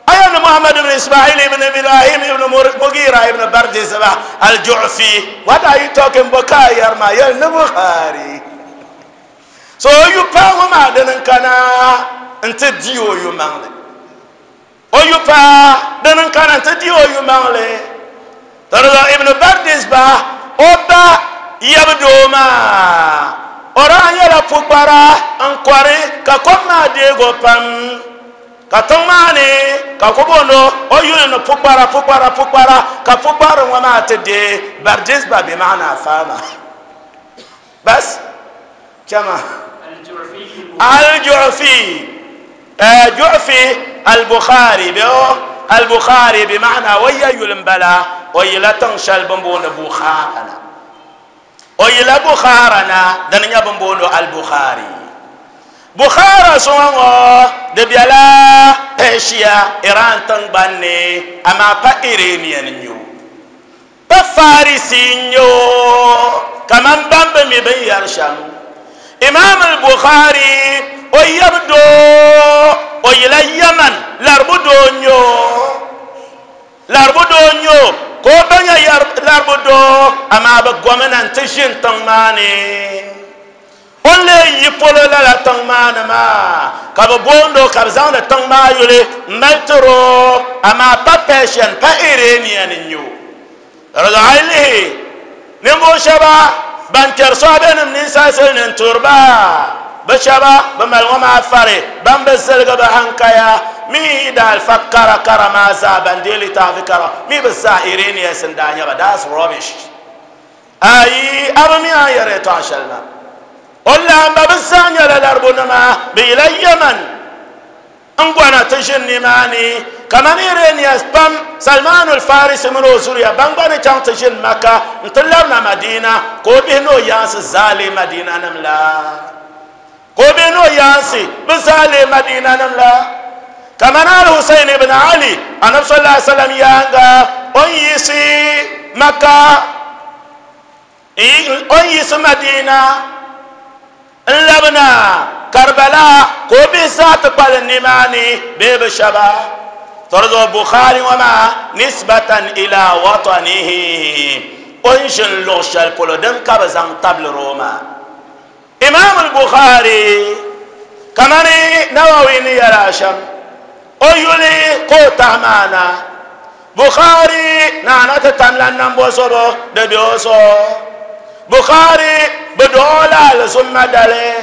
Aya ni Muhammad ibn Ismail ibn Ibrahim ibn Mughira ibn Bardizba al-Ju'fi. What are you talking about? Ka yɛri maa yɛli ni Buhari. So o yu paai ŋɔ maa dini n-kana nti di o yu maŋli. O yu paai dini n-kana nti di o yu maŋli. Tɔrɔzɔ Ibn Bardis ba o ba yab doo maa, o daa nyɛla pukpara n-kɔri ka kom maa deeg o pam. Ka tiŋ maa ni ka ku booni o o yuli ni pukpara, pukpara, pukpara, ka pukparili ŋɔ maa ti deei Bardis ba bɛ maana faama. Bas chama al-Ju'fi Ju'fi al-Bukhari bɛ o al-Bukhari bi maana o ya yuli n-bala o yila tiŋ shɛli bɛ ni booni Bukhara na o yila Bukhara na dini nyɛ bɛ ni booni o al-Bukhari Bukhara suŋa ŋɔ di bela Persia Iran tiŋgbani ni amaa pa Iranian n-nyɛ o. Pa Farisi n-nyɛ o kaman ban bi mi binyɛr shɛm. Imaam al-Bukhari o yab doo o yila Yaman laribu doo n-nyɛ o. Laribu doo n-nyɛ o ka o ba nyɛ laribu doo amaa bɛ gomnanti ʒini tiŋ maa ni. O ni lee yi polo lala tiŋ maa ni maa, ka bɛ boond o ka bɛ zaŋdi tiŋ maa yuli m-mali tir o, amaa pa Persian, pa Iranian n-nyɛ o. Lihi ninvuɣu shɛba ban kpɛri sɔhibenim ninsalisili ni n-tuuri ba, bɛ shɛba bɛ mali ŋɔ maa fari ban bi ziligi bɛ hankaya mi yi daa alifa kara kara maa zaa ban deei litaafi kara mi bɛ zaa Irenaeus n-daa nyɛ ba. That's rubbish. Ayi, a bi mi a ni yɛri yɛtɔɣa shɛli maa. O laamba bɛ zaa nyɛla Laribunima, bɛ yila Yemen. N gɔna ti ʒini nimaani kamani Irenaeus pam, Salmaan al-Farisi mini o zuriya ban gba ni chaŋ ti ʒini Makka nti labina Madina, ka o bihi ni o yaansi zaa leei Madinanim la. Ka o bihi ni o yaansi bi zaa leei Madinanim la. Kamani Al-Husayn ibn Ali, Anabi sallallahu alaihi wasallam yaaŋa, o ni yiɣisi Makka, o ni yiɣisi Madina, N labina Karbala ka o bihi zaa ti kpalim nimaani bee bi shɛba. Tɔri zuɣu Bukhari ŋɔ maa nisbatan ila watanihi, o ni ʒini luɣ shɛli polo din ka bɛ zaŋ tabilir o maa. Imam al-Bukhari kamani Nawawi ni yɛli a shɛm, o yuli ka o tahi maa na. Bukhari naana ti tamla nambo zobo di be o zuɣu. Bukhari bi dɔɣ o la alizumma dali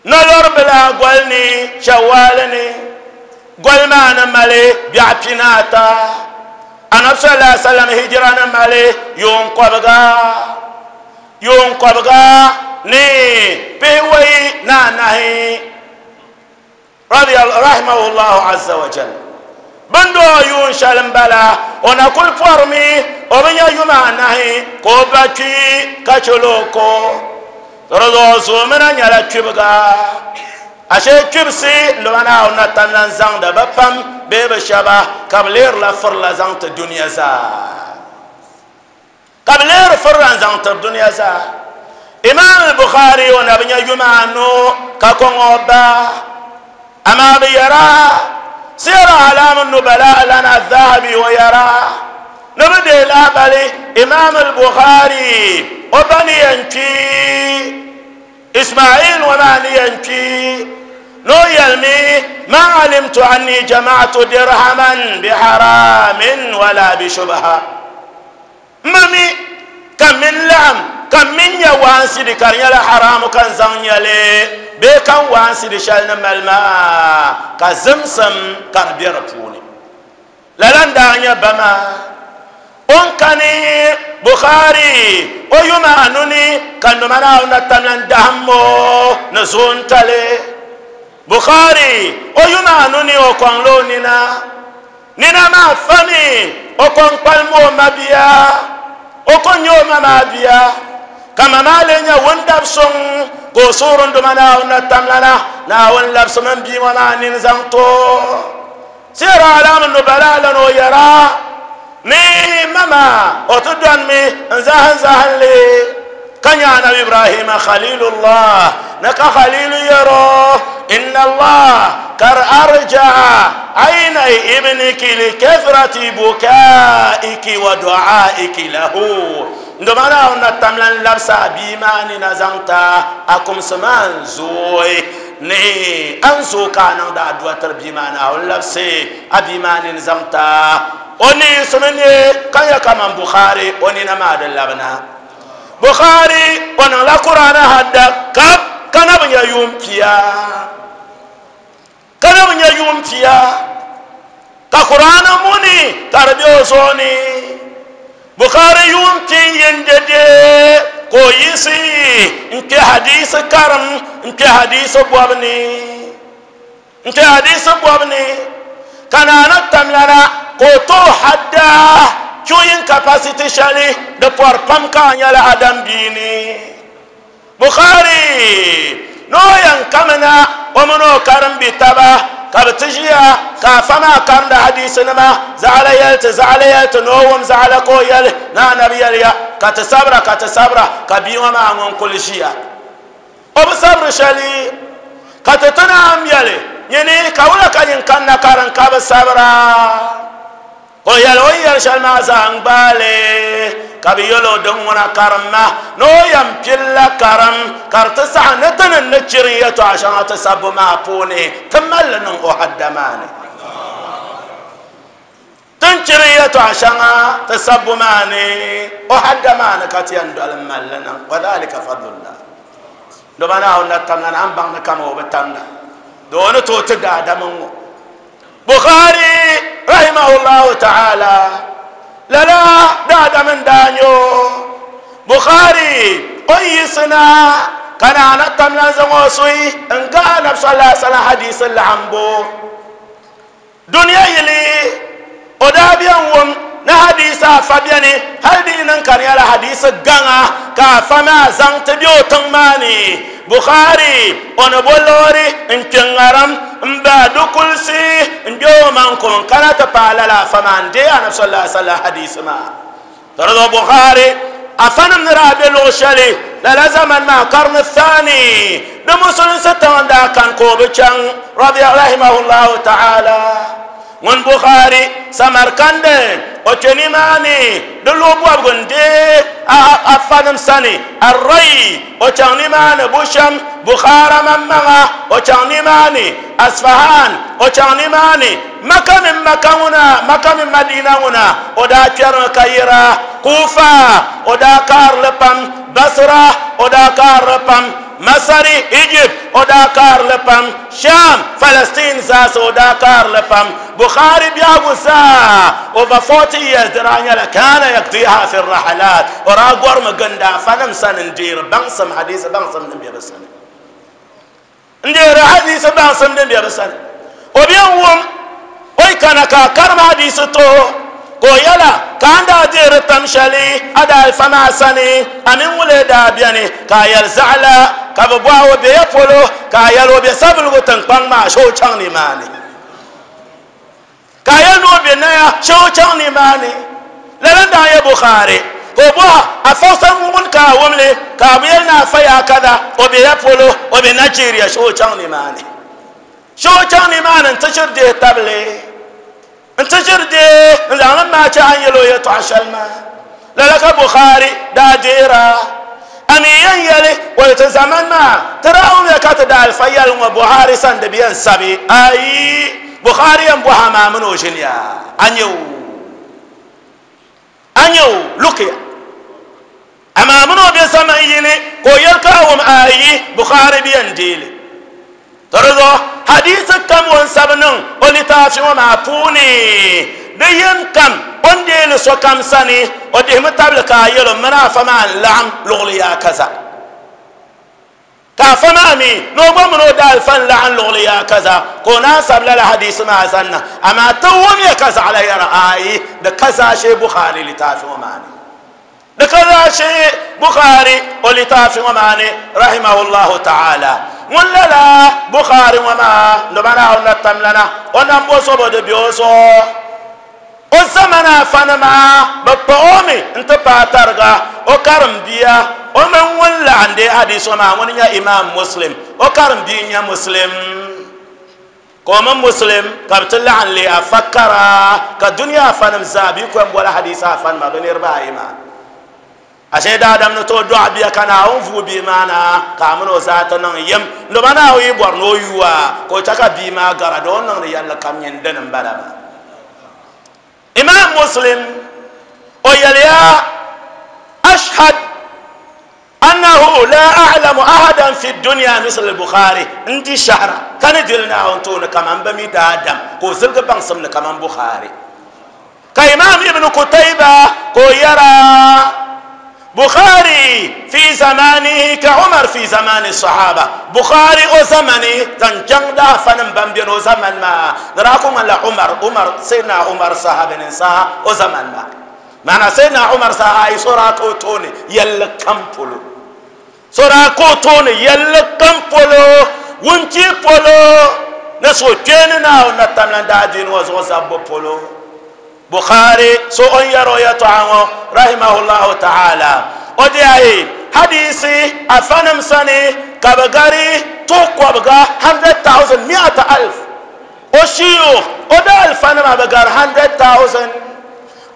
nolɔri bila goli ni Shawwal ni. Goli maa ni mali biɛɣu pinaata. Anabi sallallahu alaihi wasallam hijira ni mali yuun kɔbiga, yuun kɔbiga ni pihiwei ni anahi. Rahimahullahu azza wa jal. Bɛ ni doo yuun shɛli m-bala, o na kuli pɔrimi, o bi nya yuma anahi ka o ba kpi ka chɛl o ko. Di zuɣu zoomina nyɛla kpibiga. Ashe kpibisi n-dima Naawuni na tam lan zaŋdi bɛ pam bee bɛ shɛba ka bɛ leerila firila zaŋ ti dunia zaa. Ka bɛ leeri firila n-zaŋ tiri dunia zaa. Imam al-Bukhari o na bi nya yuma anu ka kɔŋ o ba, amaa bɛ yɛra Siyar A'lam an-Nubala lana Adh-Dhahabi o yɛra ni bɛ deei lahibali Imam al-Bukhari o ba ni yɛn kpi Ismail ŋɔ maa ni yɛn kpi ni o yɛlimi, Ma alimtu anni jama'tu dirhaman bi haramin wala bi shubha. M bi mi ka m mini laɣim ka m mini nya waansidi ka di nyɛla haramu ka n zaŋ nya li bee ka n waansidi shɛli ni mali maa ka zimsim ka di be di puuni. Lala n-daa nyɛ ba maa. O ni kani Bukhari o yuma anu ni ka noma Naawuni na tamla n-dahim o ni zoontali. Bukhari o yuma anu ni o kɔŋla o nina. Nina maa fami o kɔŋ kpalim o mabia. O ko nyɛ o ma maa bia, ka ma maa lee nyɛ wundab suŋ, ka o suhuri n Duuma Naawuni na tamlana, Naawuni labisimi m bia ŋɔ maa nini zaŋ ti o. Siyar A'lam Nubala lan o yɛra ni ma maa o ti dɔnimi n-zahim zahinli ka nya Anabi Ibrahima Khalilullah ni ka Khalilu yɛr o, Inna Allah kar arja'a aynay ibniki li kathrati bukaiki wa du'aiki lahu. N-doma Naawuni na tamla n-labisi a bia maa ni na zaŋ ti a, a kumsi maa n-zooi. Ni a ni zooi ka a niŋdi adua tiri bia maa, Naawuni labisi a bia maa nini zaŋ ti a. O ni yiɣisimi neei ka nya kaman Bukhari o nina maa di labina. Bukhari o niŋla Kur'aani hadda kap ka na bi nya yuun pia. Ka na bi nya yuun pia ka Kur'aani muni ka di be o zuɣu ni. Bukhari yuun pin yin dede ka o yiɣisi n-kpe hadiisi karim n-kpe hadiisi bɔbu ni. N-kpe hadiisi bɔbu ni ka Naana tamlana ka o tooi hadda queuing capacity shɛli di pɔri pam ka a nyɛla Adam bia ni. Bukhari ni o yɛn kamina o mini o karimbi taba ka bɛ ti ʒiya ka afa maa karimdi hadiisinima zaɣila yɛli ti zaɣila yɛli ti ni o wum zaɣila ka o yɛli ni anabi yɛliya ka ti sabira ka ti sabira ka bia ŋɔ maa ŋun kuli ʒiya o bi sabiri shɛli ka ti ti naan yɛli nyini ka wula ka nyin kanna karim ka bi sabira. O yɛli o ni yɛli shɛli maa zaa n-gbaai li, ka bɛ yɛl o din ŋuna karimma ni o yɛn pilila karim ka di ti saɣi ni ti ni ni chirim yɛtɔɣa shɛŋa ti sabbu maa puuni ti mali li niŋ o hadda maa ni. Ti ni chirim yɛtɔɣa. Yɛltɔɣa shɛŋa ti sabbu maa ni o hadda maa ni ka ti yɛn doli n malli niŋ. Wa dhalika fadlullah. Dama Naawuni na tamla ni a ni baŋ ni kama o bi tamda, di o ni tooi ti daadam n-ŋɔ. Bukhari rahimahullahu ta'ala lala daadam n daa nyɛ o. Bukhari o ni yiɣisi na ka naa na tamla n zaŋ o suhi n gahi Anabi sallallahu alaihi wasallam hadisi laɣimbu. Dunia yili o daa bɛn wum ni hadiisi afa bɛni, hali di yi niŋ ka di nyɛla hadiisi gaŋa ka afa maa zaŋ ti be o tiŋ maa ni. Bukhari o ni bo loori n-kpe ŋarim m-bahi di kulisi n-kpe o maŋ ko n-kana ti paai lala afa maa n-deei Anabi sallallahu alaihi wasallam hadiisi maa. Ka di zuɣu Bukhari afanim ni daa be luɣ shɛli lala zamani maa, karni thani, di musulinsi tiŋ n-daa kani ka o bi chaŋ, rahimahullahu ta'ala. Ŋun Bukhari Samarkandi o kpe nimaani di luɣ bɔbigu n-deei afanim sani, Ar-Ray o chaŋ nimaani bushɛm, Bukhara maŋmaŋa o chaŋ nimaani, Asfahan o chaŋ nimaani, Maka mini Maka ŋuna, Maka mini Madina ŋuna, o daa kpɛrimi ka yira. Kufa, o daa kaari li pam. Basra, o daa kaari li pam. Masari, Egypt, o daa kaari li pam. Sham, Palestine zaasa, o daa kaari li pam. Bukhari biɛhigu zaa, over 40 years, di daa nyɛla kana yakdiha fi rahalat, o daa gɔrimi gindi afanim sani n-deeri baŋsim, hadiisi baŋsim din be bɛ sani. N deeri hadiisi baŋsim din be bɛ sani. O be n-wum o yi kana ka a karim hadiisi ti o, ka o yɛla, Ka a ni daa deeri tam shɛli a daalifa maa sani, a mini ŋulee daa beni? Ka a yɛli, Zaɣila. Ka bɛ bɔhi o, Be ya polo? Ka a yɛli, O be Savelugu tiŋkpaŋ maa, shee o chaŋ nimaani. Ka a yɛli ni o be Naya, shee o chaŋ nimaani. Lala n-daa nyɛ Bukhari. Ka o bɔhi, Afa sani ŋun ka a wum li? Ka a bi yɛli ni Afa yaa kaza, o be ya polo, o be Nigeria, shee o chaŋ nimaani. Shee o chaŋ nimaani nti shiri dihi tabili, nti shiri deei n-zaŋ li maai chɛ a ni yɛl o yɛtɔɣa shɛli maa. Lala ka Bukhari daa deera. A mi yɛn yɛli, O ti zamani maa, ti daa wumya ka ti daalifa yɛli ŋɔ Buhari sani di bi yɛn sabi. Ayi! Bukhari yɛn bɔhi a maa mini o ʒiniya. A nya o? A nya o? Lukiya. Amaa mini o be zaman yini ka o yɛli ka a wum ayi, Bukhari bi yɛn deei li. To di zuɣu hadiisi kam o ni sabi niŋ o litaafi ŋɔ maa puuni, di yini kam o ni deei li sokam sani, o dihimi tabili ka a yɛl o, M mini afa maa n-laɣim luɣili yaa kaza. Ka afa maa mi ni o gba mini o daalifa n-laɣim luɣili yaa kaza, ka o naan sabi lala hadiisi maa zaŋ na. Amaa ti wumya ka zaɣila yɛra, Aai, di ka zaashee Bukhari litaafi ŋɔ maa ni. Di ka zaashee Bukhari o litaafi ŋɔ maa ni rahimahullahu ta'ala. Ŋun lala Bukhari ŋɔ maa ndoba Naawuni na tamlana o nambo zobo di be o zuɣu. O zamana afanima bi kpuɣi o mi n-ti paai tariga o karimbiya o mini ŋun laɣim deei hadiisi ŋɔ maa ŋuni nyɛ Imam Muslim o karimbia n-nyɛ Muslim. Ka o mini Muslim ka bɛ ti laɣim leei afa kara, ka dunia afanim zaa bɛ yi kɔŋ boli hadiisi afanima bɛ niriba ayi maa. Ashe daadam ni tooi dɔɣi bia ka Naawuni vuui bia maa na ka a mini o zaa ti niŋ yim. Ndoba Naawuni yi bɔri ni o yuui a, ka o chɛ ka bia maa gara di o ni niŋdi yɛlli kam nyin dini m-bala maa. Imam Muslim o yɛliya, Ashhad annahu la a'lamu ahadan fi dunya misl al-Bukhari, n di shɛhira ka ni dili Naawuni tooni kaman bɛ mi daadam ka o ziligi baŋsim ni kaman Bukhari. Ka Imam Ibn Kutayba ka o yɛra, Bukhari fi zamanihi ka Umar fi zamani sahaba. Bukhari o zamani zaŋ chaŋ daafanim ban beni o zamani maa di daa ku ŋmanila Umar, Umar, Sayyidina Umar sahabinin saha o zamani maa. Maana Sayyidina Umar saha ayi so daa ka o tooni yɛlli kam polo. So daa ka o tooni yɛlli kam polo, wuntia polo ni suhukpeeni Naawuni na tamlan daadiini ŋɔ zuɣu zabbu polo. Bukhari so o ni yɛri o yɛtɔɣa ŋɔ rahimahullahu ta'ala o di ayi hadiisi afanim sani ka bɛ gari tuhi kɔbiga 100,000 mi'ata alf o shiyukh o daalifanima bɛ gari 100,000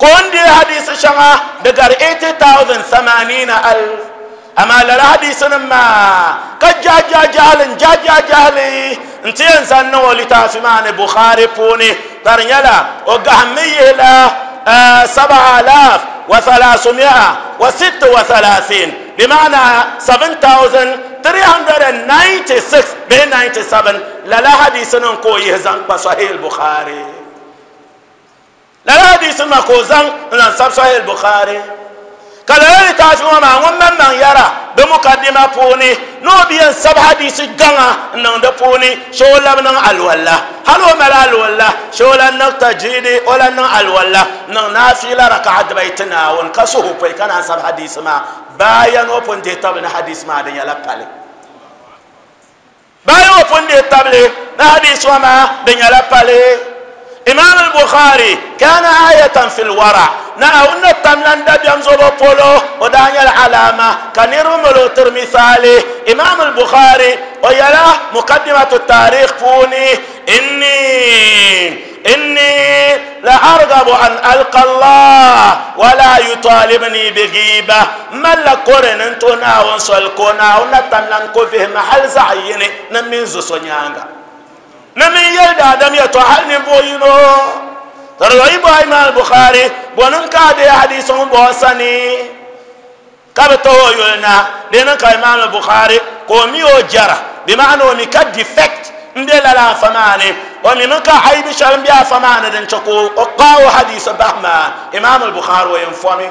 ka o ni deei hadiisi shɛŋa di gari 80,000 thamanina alf amaa lala hadiisinim maa ka jahi jahili n jahi jahi jahili n ti yɛn zaŋ niŋ o litaafi maa ni Bukhari puuni ka di nyɛla o gahimmi yihila 7336، بمعنى 7396 bee 97. Lala hadisi nim ka o yihi zaŋ kpa Sahih Bukhari. Lala hadisi nima ka o zaŋ n zaŋ sabi Sahih Bukhari. Ka lala litaafi ŋɔ maa, ŋun maŋmaŋ yɛra di mukaddima puuni ni o bi yɛn sabi hadisi gaŋa n niŋ di puuni shee o labi niŋ alwala. Hali o mali alwala shee o lan niŋ tajidi, o lan niŋ alwala niŋ naafila raka'a dibayi ti Naawuni ka suhu pɔi ka naan sabi hadisi maa bayan o pun dihi tabili ni hadisi maa di nyɛla pali. Bayan o pun dihi tabili ni hadisi ŋɔ maa di nyɛla pali. Imam al-Bukhari kana ayatan fil wara. Naawuni ni tam lan dabiɛm zobo polo, o daa nyɛla alama ka niriba mali o tiri misaali. Imam al-Bukhari o yɛla mukaddimatu tarikh puuni, inni inni la argabu an alqa Allah wa la yutalibni bi ghiba. M malila kore ni n tuhi Naawuni soli ka o Naawuni na tam lan ko vihi ma hali zaɣ yini ni m mini zo so nyaaŋa. Ni min yɛli daadam yɛtɔɣa hali ninvuɣ yino. Ka di zuɣu yi bɔhi Imaam Bukhari, bɔ niŋ ka a deei hadiisi ŋun bɔŋɔ sani ka bi tahi o yuli na? Di niŋ ka Imaam Bukhari ka o mi o jɛra, bɛ maana o mi ka defect m-be lala afa maa ni, o mimi ka aibi shɛli m-be afa maa ni din chɛ ka o kpaai o hadiisi bahi maa. Imaam Bukhari o yɛn fɔmi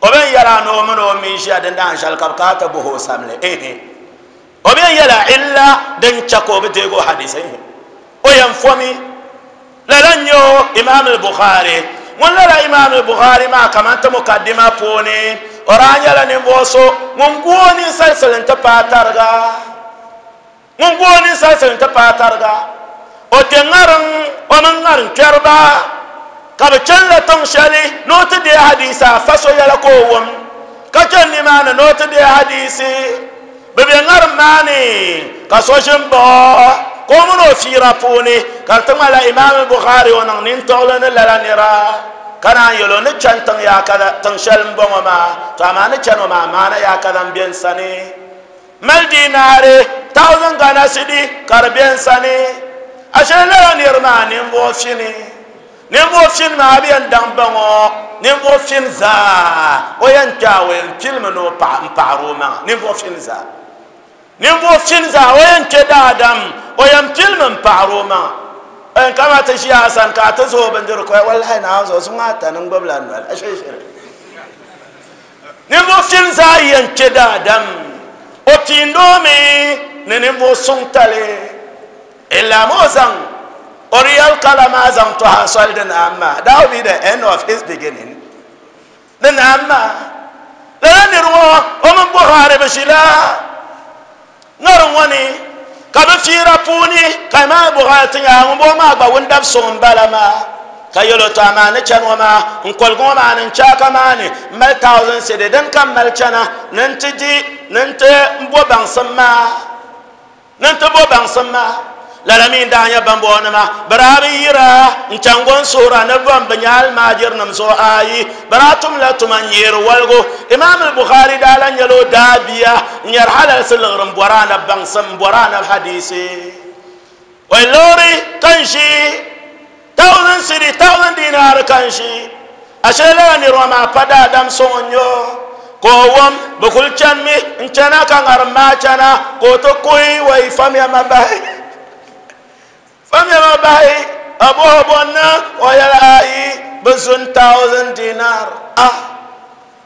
o bɛn yɛla ni o mini o mi ʒiya dindaan shɛli ka bɛ kana ti bɔhi o samli, ehe. O bɛn yɛla illa din chɛ ka o bi deegi o hadisi, ehe. O yɛn fɔmi lala n-nyɛ o Imaam al-Bukhari. Ŋun lala Imaam al-Bukhari maa kaman ti mukaddima puuni, o daa nyɛla ninvuɣ so ŋun gu o ninsalisili nti paai tariga. Ŋun gu o ninsalisili nti paai tariga. O kpe ŋariŋ o mini ŋariŋ kpɛriba ka bɛ chanila tiŋ shɛli ni o ti deei hadiisi afa so yɛla ka o wum, ka chani nimaani ni o ti deei hadiisi. Bɛ be ŋariŋ maa ni ka so ʒi m-baɣ o, ka o mini o fiira puuni, ka di ti ŋmanila Imaam Bukhari o niŋ nintɔɣili ni lala nira, ka naan yɛl o ni chani tiŋ yaakada, tiŋ shɛli m-bɔŋɔ maa, tɔ amaa ni chani o maa maana yaakada m-be n sani. Mali dinaari thousand Ghana cedi ka di be n sani. Ashe lala niri maa ninvuɣu fini. Ninvuɣu fini maa bi yɛn daŋ baŋ o, ninvuɣu fini zaa o yɛn kpe a o yɛn pilimi ni o paɣa m-paɣiri o maŋa. Ninvuɣu fini zaa. Ninvuɣu fini zaa o yɛn kpe daadam o yɛn pilimi m-paɣiri o maŋa. O yɛn kama ti ʒiya a sani ka a ti zooi bindirigu ka o yɛli wallahi Naawuni zuɣu zuŋɔ ata ni n gbubila noli. Ashe shiri. Ninvuɣ fini zaa yɛn kpe daadam, o piindi o mi ni ninvuɣ suŋ tali. Illam o zaŋ o real colour maa zaŋ tɔhi a soli di naam maa. That will be the end of his beginning. Di naam maa. Lala niri ŋɔ o mini Buhari bi ʒila ŋariŋ ŋɔ ni ka bɛ fiira puuni ka Imaam Bukhari ti nya ŋun bɔŋɔ maa gba wundab suŋ m-bala maa, ka yɛl o, Tɔ amaa ni chani ŋɔ maa, n koligu ŋɔ maa ni n chaaka maa ni m mali thousand cedi din ka m mali chana ni n ti di ni n ti bo baŋsim maa, ni n ti bo baŋsim maa. Lala mi n-daa nyɛ bambɔŋɔnima, bɛ daa bi yira n-chaŋ go n-suhira ni bɔn bɛ nya almaajirinim zuɣu. Aai, bɛ daa tumla tuma n-nyeeri waligu. Imaam al-Bukhari daa lan nyɛla o daabia n-nyɛri halalisi liɣiri m-bɔri anabi baŋsim, m-bɔri anabi hadiisi. O liɣiri ka n-ʒi thousand cedi, thousand dinar ka n-ʒi. Ashe lala niriba maa pa daadam suŋ n-nyɛ o, ka o wum bɛ kuli chanimi n-chana ka ŋarim maa chana, ka o ti kuhi, Wai, famiya ma bahi! Famiya ma bahi! Ka bɔhi o bɔ n-niŋ? O yɛli, Ayi, bɛ zu n thousand dinar. Ah!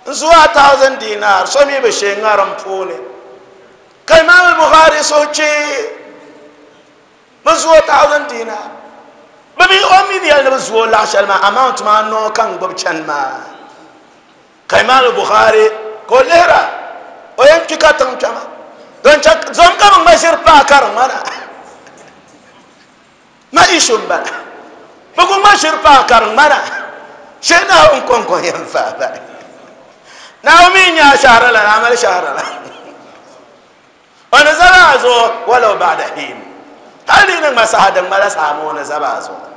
N zu a thousand dinar, so mi bi shee ŋarim puuni. Ka Imaam al-Bukhari suhu kpee. Bɛ zu o thousand dinar. Bɛ mi o mi ni yɛli ni bɛ zu o laɣ shɛli maa amount maa noo ka n gbubi chani maa. Ka Imam Bukhari ka o lihira o yɛn kpi ka tiŋ kpɛma don chɛ zom ka bi ŋma ʒiri paai kariŋ ŋɔ na ma issue n bala bi ku ŋma ʒiri paai kariŋ ŋɔ na shee Naawuni kɔŋko yɛn faai bahi. Naawuni mi n-nyɛ a shɛhira lana a mali shɛhira lana. O ni zaba a zuɣu walau ba'da hin, hali di ni ŋma saha din ŋmala saha maa o ni zaba a zuɣu.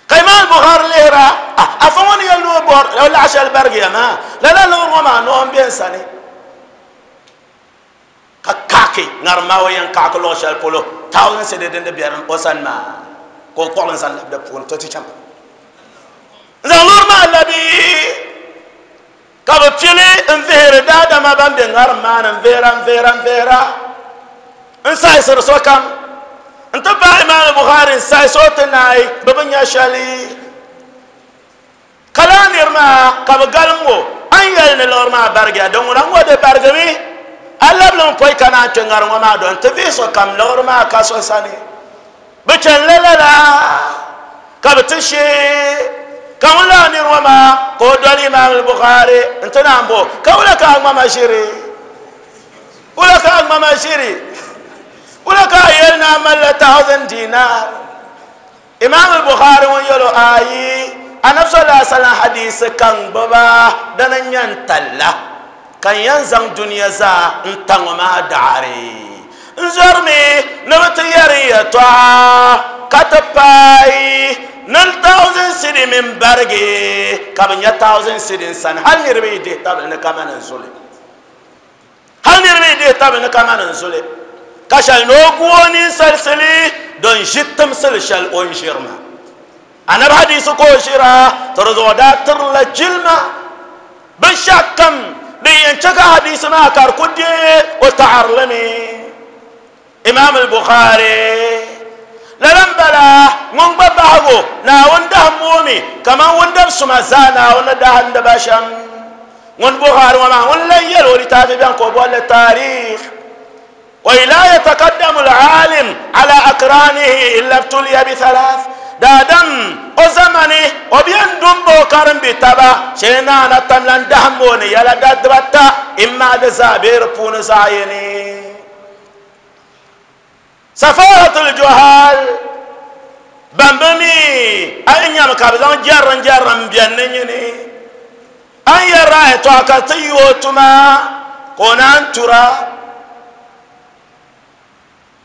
Ka Imaam Bukhari lihira, a afa ŋɔ ni yɛli ni o bɔri o laɣ shɛli barigiya maa, lala liɣiri ŋɔ maa noo m-be n sani. Ka kaaki ŋarim maa o yɛn kaaki luɣ shɛli polo thousand cedi din di be o sani maa ka o kpuɣili n-zaŋ labi di puuni to ti chaŋ. N zaŋ loori maa labi ka bi pili n vihiri daadama ban bɛ ŋarim maa ni, n vihira, n vihira, n vihira, n saɣisiri sokam n ti paai Imaam Bukhari n saɣisi o ti naai, bi bi nya shɛli. Ka laa niri maa ka bi galim o, a ni yɛli ni liɣiri maa barigiya, din ŋuna ŋɔ di barigimi, a labilimi pɔi ka naan kpe ŋariŋ ŋɔ maa do n-ti vihi sokam liɣiri maa ka so sani. Bɛ chanila lala ka bɛ ti shee ka ŋun laa niri ŋɔ maa ka o doli Imaam al-Bukhari n-ti naan bo, ka wula ka a ŋmama ʒiri? Wula ka a ŋmama ʒiri? Wula ka a yɛli ni a malila 1000 dinar? Imaam al-Bukhari ŋun yɛl o, Ayi, Anabi sallallahu alaihi wasallam hadiisi ka n gbuba, dini n-nyɛ n talla ka n yɛn zaŋ dunia zaa n ta ŋɔ maa daɣiri. N zɔrimi ni bɛ ti yɛri n yɛtɔɣa ka ti paai ni 1000 cedi mini barigi ka bɛ nya 1000 cedi n sani, hali niriba yi dihi tabili ni kamani n zuli. Hal niriba yi dihi tabili ni kamani n zuli, ka shɛli ni o gu o ninsalisili din ʒi timsili shɛli o ni ʒiri maa. Anabi hadiisi ka o ʒira, to di zuɣu daa tirila jilima binshɛɣu kam din yɛn chɛ ka hadiisi maa ka di ku deei o taɣirili mi. Imam al-Bukhari, Lala m-bala, ŋun gba bahigu Naawuni dahimbu o mi kaman wundab suma zaa Naawuni ni dahindi ba shɛm. Ŋun Bukhari ŋɔ maa, ŋun lan yɛl o litaafi bɛni ka o boli li Taarikh. Wa laa yatakaddamu al-aalim ala akranihi illa ibtuliya bi thalath. Daadam o zamani o bi yɛn du m-ba o karimbi taba shee naana tam lan dahimbu o ni yɛla dibata, imma di zaa bee di puuni zaɣ yini. Safahatul juhal ban bi mi a yi nyami ka bi zaŋ jɛrim jɛrim n-bɛni ni nyini a ni yɛrila a yɛtɔɣa ka ti yi o tuma ka o naan tura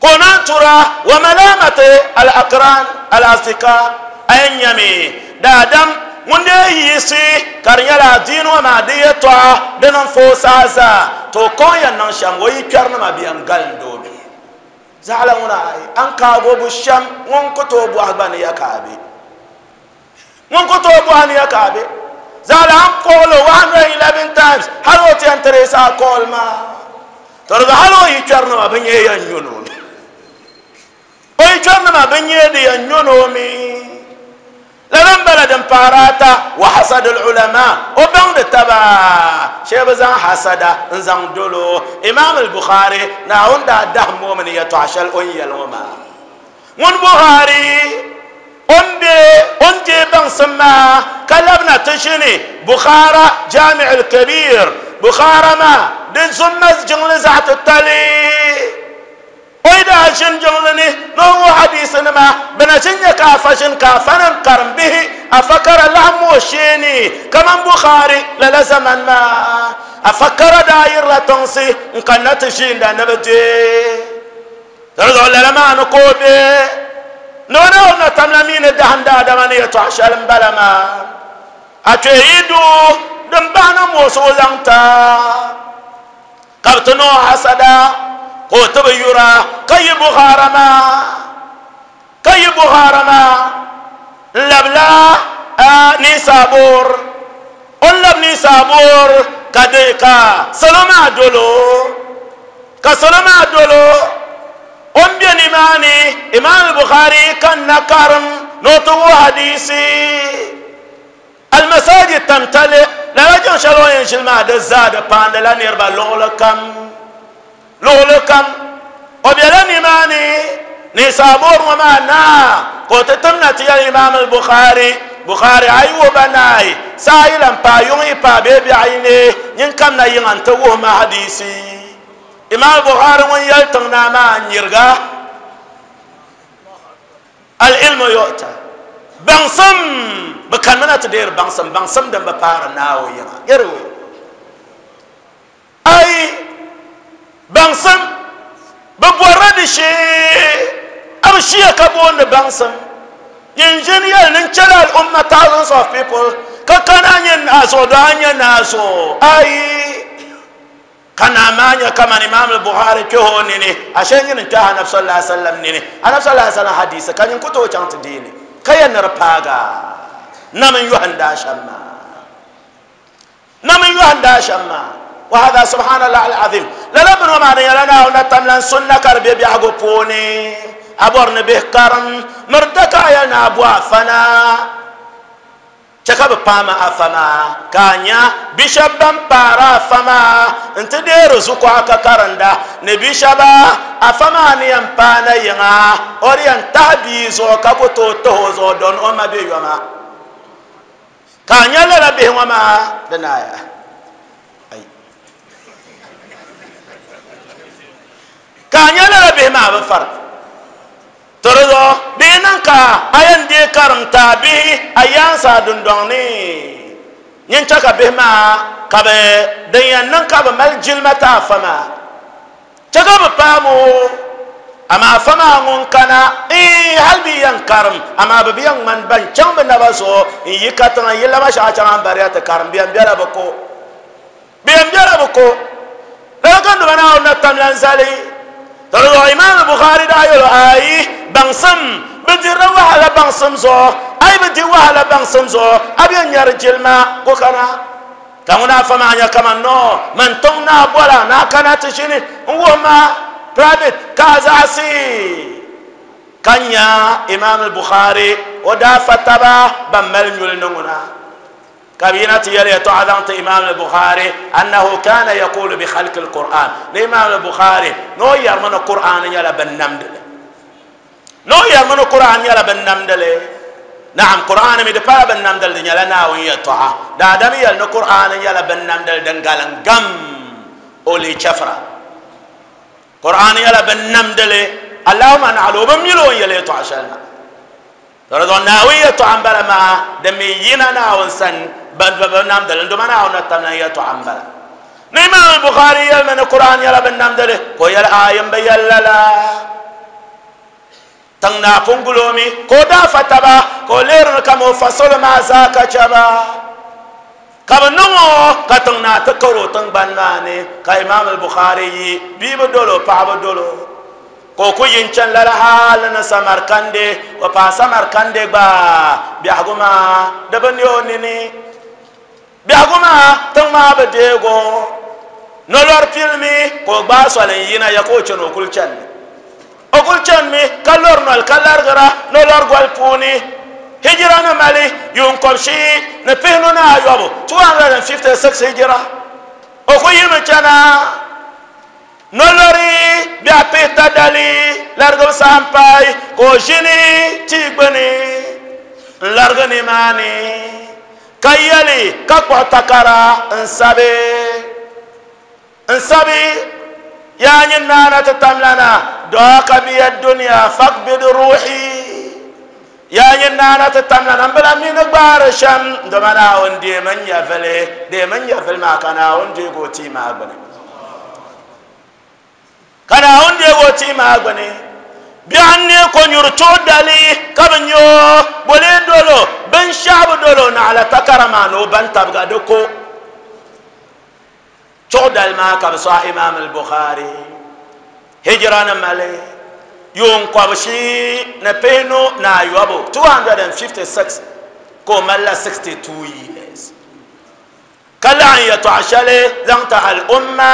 ka o naan tura wa malamati al-aqran al-asdika a yi nyami daadam ŋun dee yiɣisi ka di nyɛla adiini ŋɔ maa di yɛtɔɣa dini n-fa o saha zaa, to o kɔŋ yɛn niŋ shɛm o yi kpɛrinima bɛ yɛn galind o mi. Zaɣila ŋuna ayi, a ni kaagi o bu shɛm ŋun ku tooi bɔhi gba ni ya ka a be. Ŋun ku tooi bɔhi ni ya ka a be. Zaɣila a ni call o 111 times hali o ti yɛn trace a call maa. To di zuɣu hali o yi kpɛrinima bɛ nyɛ yɛn nyo ni o mi. O yi kpɛrinima bɛ nyɛ di yɛn nyo ni o mi. Lala m-bala din pahiri ata, wa hasadul ulama, o baŋdi taba shee bi zaŋ hasada n-zaŋ dol o. Imam al-Bukhari, Naawuni daa dahim o mi ni yɛtɔɣa shɛli o ni yɛli ŋɔ maa. Ŋun Bukhari, o ni be o ni deei baŋsim maa ka labina ti ʒini Bukhara Jami' al-Kabir, Bukhara maa di zumma jiŋli zaɣ titali. O yi daa ʒini jiŋli ni ni o wuhi hadiisinima, bɛ na ʒini nya ka afa ʒini ka afanim karimbihi afa kara laɣim o shee ni kaman Bukhari lala zamani maa. Afa kara daa yirila tiŋsi n-kanna ti ʒiinda ni bɛ deei. Di zuɣu lala maa ni ka o be ni o Naawuni na tamla mi ni dahim daadama ni yɛtɔɣ shɛli m-bala maa. A kpe yi du din bahi na muɣisigu zaŋ ti a. Ka bɛ ti niŋ o hasada ka o ti bi yura ka yi Bukhara maa, ka yi Bukhara maa n-labila Ninsabur. O ni labi Ninsabur ka di ka salo maa dol o, ka salo maa dol o. O ni be nimaani, Imam al-Bukhari kanna karim ni o ti wuhi hadiisi. Al-Masajid tamtali, lala jiŋ shɛli o ni yɛn ʒili maa di zaa di paandila niriba luɣili kam, luɣili kam. O bela nimaani, Ninsabur ŋɔ maa naa ka o ti tim na ti yɛli Imam al-Bukhari, Bukhari a yi wuhi ba naai, saa yi lan paai yuŋ yi paai bee biɛɣu yi neei, nyin kamna yiŋa nti wuhi ma hadiisi. Imam al-Bukhari ŋun yɛli tiŋ naa maa n-nyiriga. Al-ilmu yu'ta, baŋsim, bɛ kanimina ti deeri baŋsim, baŋsim din bi paari Naawuni yiŋa. Yɛriwe. Ayi, baŋsim, bɛ bɔrila di shee, a bi shiya ka booni baŋsim. Nyin ʒini yɛli ni n chɛla al-umma thousands of people ka kana a nyɛ naa zuɣu, doo a nyɛ naa zuɣu. Ayi. Ka naa maa nya kaman Imaam al-Bukhari kpɛh o nini, ashe nyini n-kpɛhi Anabi sallallahu alaihi wasallam nini. Anabi sallallahu alaihi wasallam hadiisi ka nyin ku tooi chaŋ ti deei li ka yɛn ni di paagi a. Nam n yɔhindi a shɛm maa. Nam n yɔhindi a shɛm maa. Wa hada subhanallah al-azim. Lala bini ŋɔ maa di nyɛla Naawuni na tamlan sunna ka di be biɛhigu puuni. A bɔri ni bihi karim miri da ka a yɛli ni a bo afa na. Chɛ ka bɛ paai ma afa maa, ka a nya bi shɛb ban paari afa maa nti deeri zukuɣa ka karinda ni bi shɛba afa maa ni yɛn paai na yiŋa, o di yɛn tahi bia zuɣu ka ku tooi tahi o zuɣu dɔn o ma bɛ yoma. Ka a nya lala bihi ŋɔ maa di naaya. Ai. Ka a nya lala bihi maa bi fari. To di zuɣu di yi niŋ ka a yɛn deei karim ti a bihi a yaansi a dundɔŋ ni, nyin chɛ ka bihi maa ka bɛ din yɛn niŋ ka bɛ mali jilima ti afa maa, chɛ ka bɛ paam o. Amaa afa maa ŋun kana, iin, hal bɛ yi yɛn karim, amaa bɛ bi yɛn ŋmani ban chaŋ bɛ naba zuɣu n-yi katiŋa n-yi lama shɛŋa chaŋ ambariya ti karim, bɛ yɛn bela bɛ ko. Bɛ yɛn bela bɛ ko. Lala ka Duuma Naawuni na tam lan zali. To di zuɣu Imaam Bukhari daa yɛl o, Aai, baŋsim, bɛ dirila wahala baŋsim zuɣu, a yi bi di wahala baŋsim zuɣu, a bi yɛn nyari jilima ko kana. Ka ŋuna afa maa nya kaman noo, man tiŋ naa bɔla ni a kana ti ʒini n-wuhi ma private ka a zaɣisi. Ka nya Imaam Bukhari o daa fa taba ban mali nyuli ni ŋuna. Ka bɛ yina ti yɛli yɛtɔɣa zaŋ ti Imaam al-Bukhari annahu kana yaqulu bi khalqi al-Qur'an, ni Imaam al-Bukhari ni o yɛrimi ni Qur'an nyɛla binnamdili, ni o yɛrimi ni Qur'an nyɛla binnamdili. Naam, Qur'an mi di pala binnamdili, di nyɛla Naawuni yɛtɔɣa. Daadam yɛli ni Qur'an nyɛla binnamdili din galim gam, o leei chɛfira. Qur'an nyɛla binnamdili, Allahumma naɣila o bi mili o ni yɛli yɛtɔɣa shɛli na. To di zuɣu Naawuni yɛtɔɣa m-bala maa, din mi yina Naawuni sani, bɛ bi namdi li, n-doma Naawuni na tamlan yɛtɔɣa m-bala. Ni Imaam al-Bukhari yɛlimi ni Kur'an nyɛla bɛ namdi li, ka o yɛli, Aai, m bi yɛli lala. Tiŋ naa pun guli o mi, ka o daa fa taba, ka o lihiri mi kaman o fa salo maa zaa ka chɛ ba. Ka bɛ niŋ o ka tiŋ naa ti kari o tiŋgbani maa ni, ka Imaam al-Bukhari yi bia bi dol o, paɣa bi dol o. Ka o ku yi n-chani lala hal ni Samarkandi, o paai Samarkandi gba, biɛhigu maa di bi ne o nini. Biɛhigu maa tiŋ maa bi deeg o. Nolɔri pilimi ka o gbaai soli n-yina ya ka o chani o kuli chanimi. O kuli chanimi ka lɔri noli ka larigira nolɔri goli puuni. Hijira ni mali yuun kɔbishiyi ni pihinu ni ayɔbu, 256 Hijira, o kuli yimi chana. Nolɔri biɛɣu pihita dali larigibu saha m-paai ka o ʒini tia gbuni n-larigi nimaani ka yɛli ka kpuɣi takara n-sabi n-sabi, Yaa nyin naa na ti tamlana, dɔɔka biya dunia fakbid ruuhi. Yaa nyin naa na ti tamlana, m bi lahi mi ni gbaari shɛm, dama Naawuni deemi n nyɛvili, deemi n nyɛvili maa ka Naawuni deegi o tia maa gbini. Ka Naawuni deegi o tia maa gbini. Biɛɣu n-neei konyuri chuɣu dali ka bɛ nya o, boli dol o, binshɛɣu bi dol o naɣila takara maa ni o bantabiga di ko. Chuɣu dali maa ka bɛ sɔɣi Imaam al-Bukhari hijira ni mali yuun kɔbishii ni pihinu ni ayɔbu, 256, ka o mali la 62 years, ka laɣim yɛtɔɣa shɛli zaŋ ti al-umma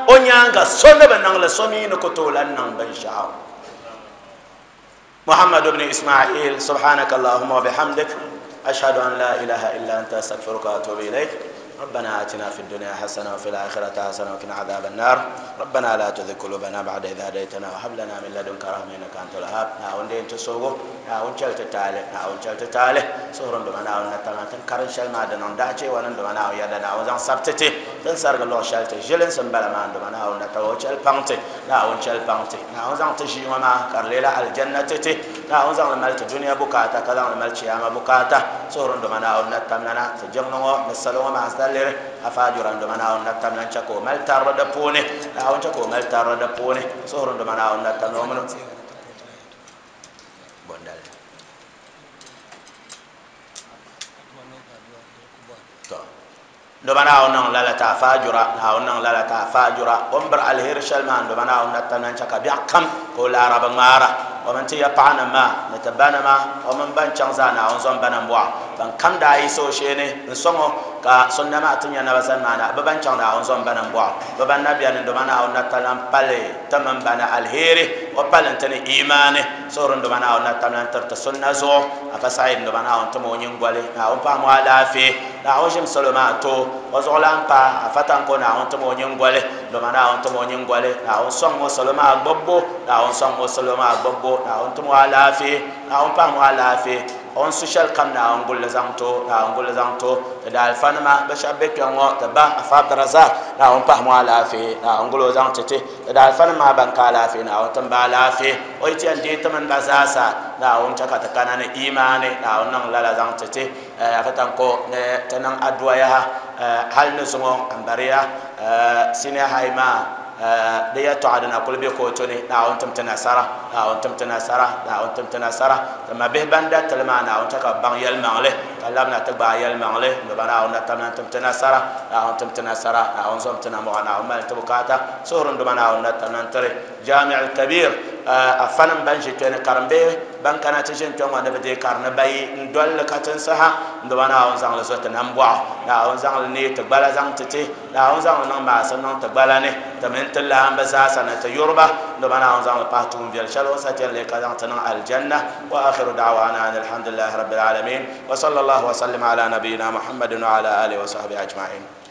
o nyaaŋa so ni bi niŋ li, so mi ni ku tooi lan niŋ binshɛɣu. Muhammad ibn Ismail, subhanaka Allahumma wa bihamdik, ashhadu an la ilaha illa anta astaghfiruka wa atubu ilayk. ربنا آتنا في الدنيا حسنة وفي الآخرة حسنة وقنا عذاب النار. ربنا لا تزغ قلوبنا بعد إذ هديتنا وهب لنا من لدنك رحمة إنك أنت الوهاب. ناون دين تسوغو ناون چل تتالي ناون چل تتالي سورن دما ناون نتانا تن كارن شل ما دنون داچي ونن دما ناون يدا ناون زان سبتتي تن سرگ لو شل تجلن سنبلا ما دما ناون نتاو چل پانتي Naawuni chɛli paŋ ti. Naawuni zaŋ ti ʒii ŋɔ maa ka di leela alijanna ti ti. Naawuni zaŋ li mali ti dunia bukaata ka zaŋ li mali chiyaama bukaata. Suhuri n-doma Naawuni na tamlana ti jiŋli ŋɔ ni salo ŋɔ maa zaliri. Afa jura n-doma Naawuni na tamla n-chɛ ka o mali tarili di puuni. Naawuni chɛ ka o mali tarili di puuni. Suhuri n-doma Naawuni na tamla o mini bondali. To. Doma Naawuni niŋ lala ti a faajura, Naawuni niŋ lala ti a faajura. O ni biri aliheri shɛli maa, doma Naawuni na tam na n-chɛ ka biɛɣu kam ka o laara bi ŋmaara. O mini ti ya paɣanima maa ni ti banima, o mini ban chaŋ zaa Naawuni zom ba nambɔɣu. Ban kam daa yiɣisi o shee ni n-sɔŋ o, ka sunna maa ti nya naba zani maa na, bɛ ban chaŋ Naawuni zom ba nambɔɣu. Bɛ ban na beni doma Naawuni na talan pali ti mini ba ni aliheri, o pali n-ti ni imaani. Suhuri n doma Naawuni na tamlan tiri ti sunna zuɣu. Afa Saeed n doma Naawuni tim o nyiŋgoli, Naawuni paɣim o alaafee, Naawuni ʒim salo maa ti o, o zuɣulan paai Afa Tanko Naawuni tim o nyiŋgoli, doma Naawuni tim o nyiŋgoli, Naawuni sɔŋ o salo maa gbubbu, Naawuni sɔŋ o salo maa gbubbu, Naawuni tim o alaafee, Naawuni paɣim o alaafee, o ni su shɛli kam Naawuni guli li zaŋ ti o, Naawuni guli li zaŋ ti o, ti daalifanima bɛ shɛba be kpɛŋ ŋɔ, ti ba Afa Abdurazak, Naawuni pahim o alaafee, Naawuni guli o zaŋ ti ti, ti daalifanima maa ban ka alaafee, Naawuni tim ba alaafee, o yi ti yɛn deei ti mini ba zaasa, Naawuni chɛ ka ti kana ni imaani, Naawuni niŋ lala zaŋ ti ti. Afa Tanko ni ti niŋ adua yaha hali ni zuŋɔ m-bariya senior high maa di yɛtɔɣa di na kuli be kootu ni, Naawuni tim ti nasara, Naawuni tim ti nasara, Naawuni tim ti nasara. Ti mabihi ban da ti li maa, Naawuni chɛ ka bɛ baŋ yɛlimaŋli ka labina ti gbaai yɛlimaŋli n-do ba. Naawuni na tamna n-tim ti nasara, Naawuni tim ti nasara, Naawuni zom ti namɔɣu, Naawuni mali ti bukaata. Suhuri n-do ba Naawuni na tamna n-tiri Jami al-Kabir afanim ban ʒi kpe ni karimbihi ban kana ti ʒini kpe ŋɔ ni bɛ deei kari ni bayi n-doli li katinsi ha n-do ba. Naawuni zaŋ li zo ti nambɔɣu, Naawuni zaŋ li neei ti gbala zaŋ ti ti, Naawuni zaŋ li niŋ maasim niŋ ti gbala ni, ti mini ti laamba zaasa ni ti yuriba n-do ba. Naawuni zaŋ li pahi tuun viɛl shɛli o ni sa ti yɛn leei ka zaŋ ti niŋ Aljanna. Wa akhiru da'wana ani alhamdulillahi rabbil alamin wa sallallahu wa sallim ala nabiyina Muhammadin wa ala alihi wa sahbihi ajma'in.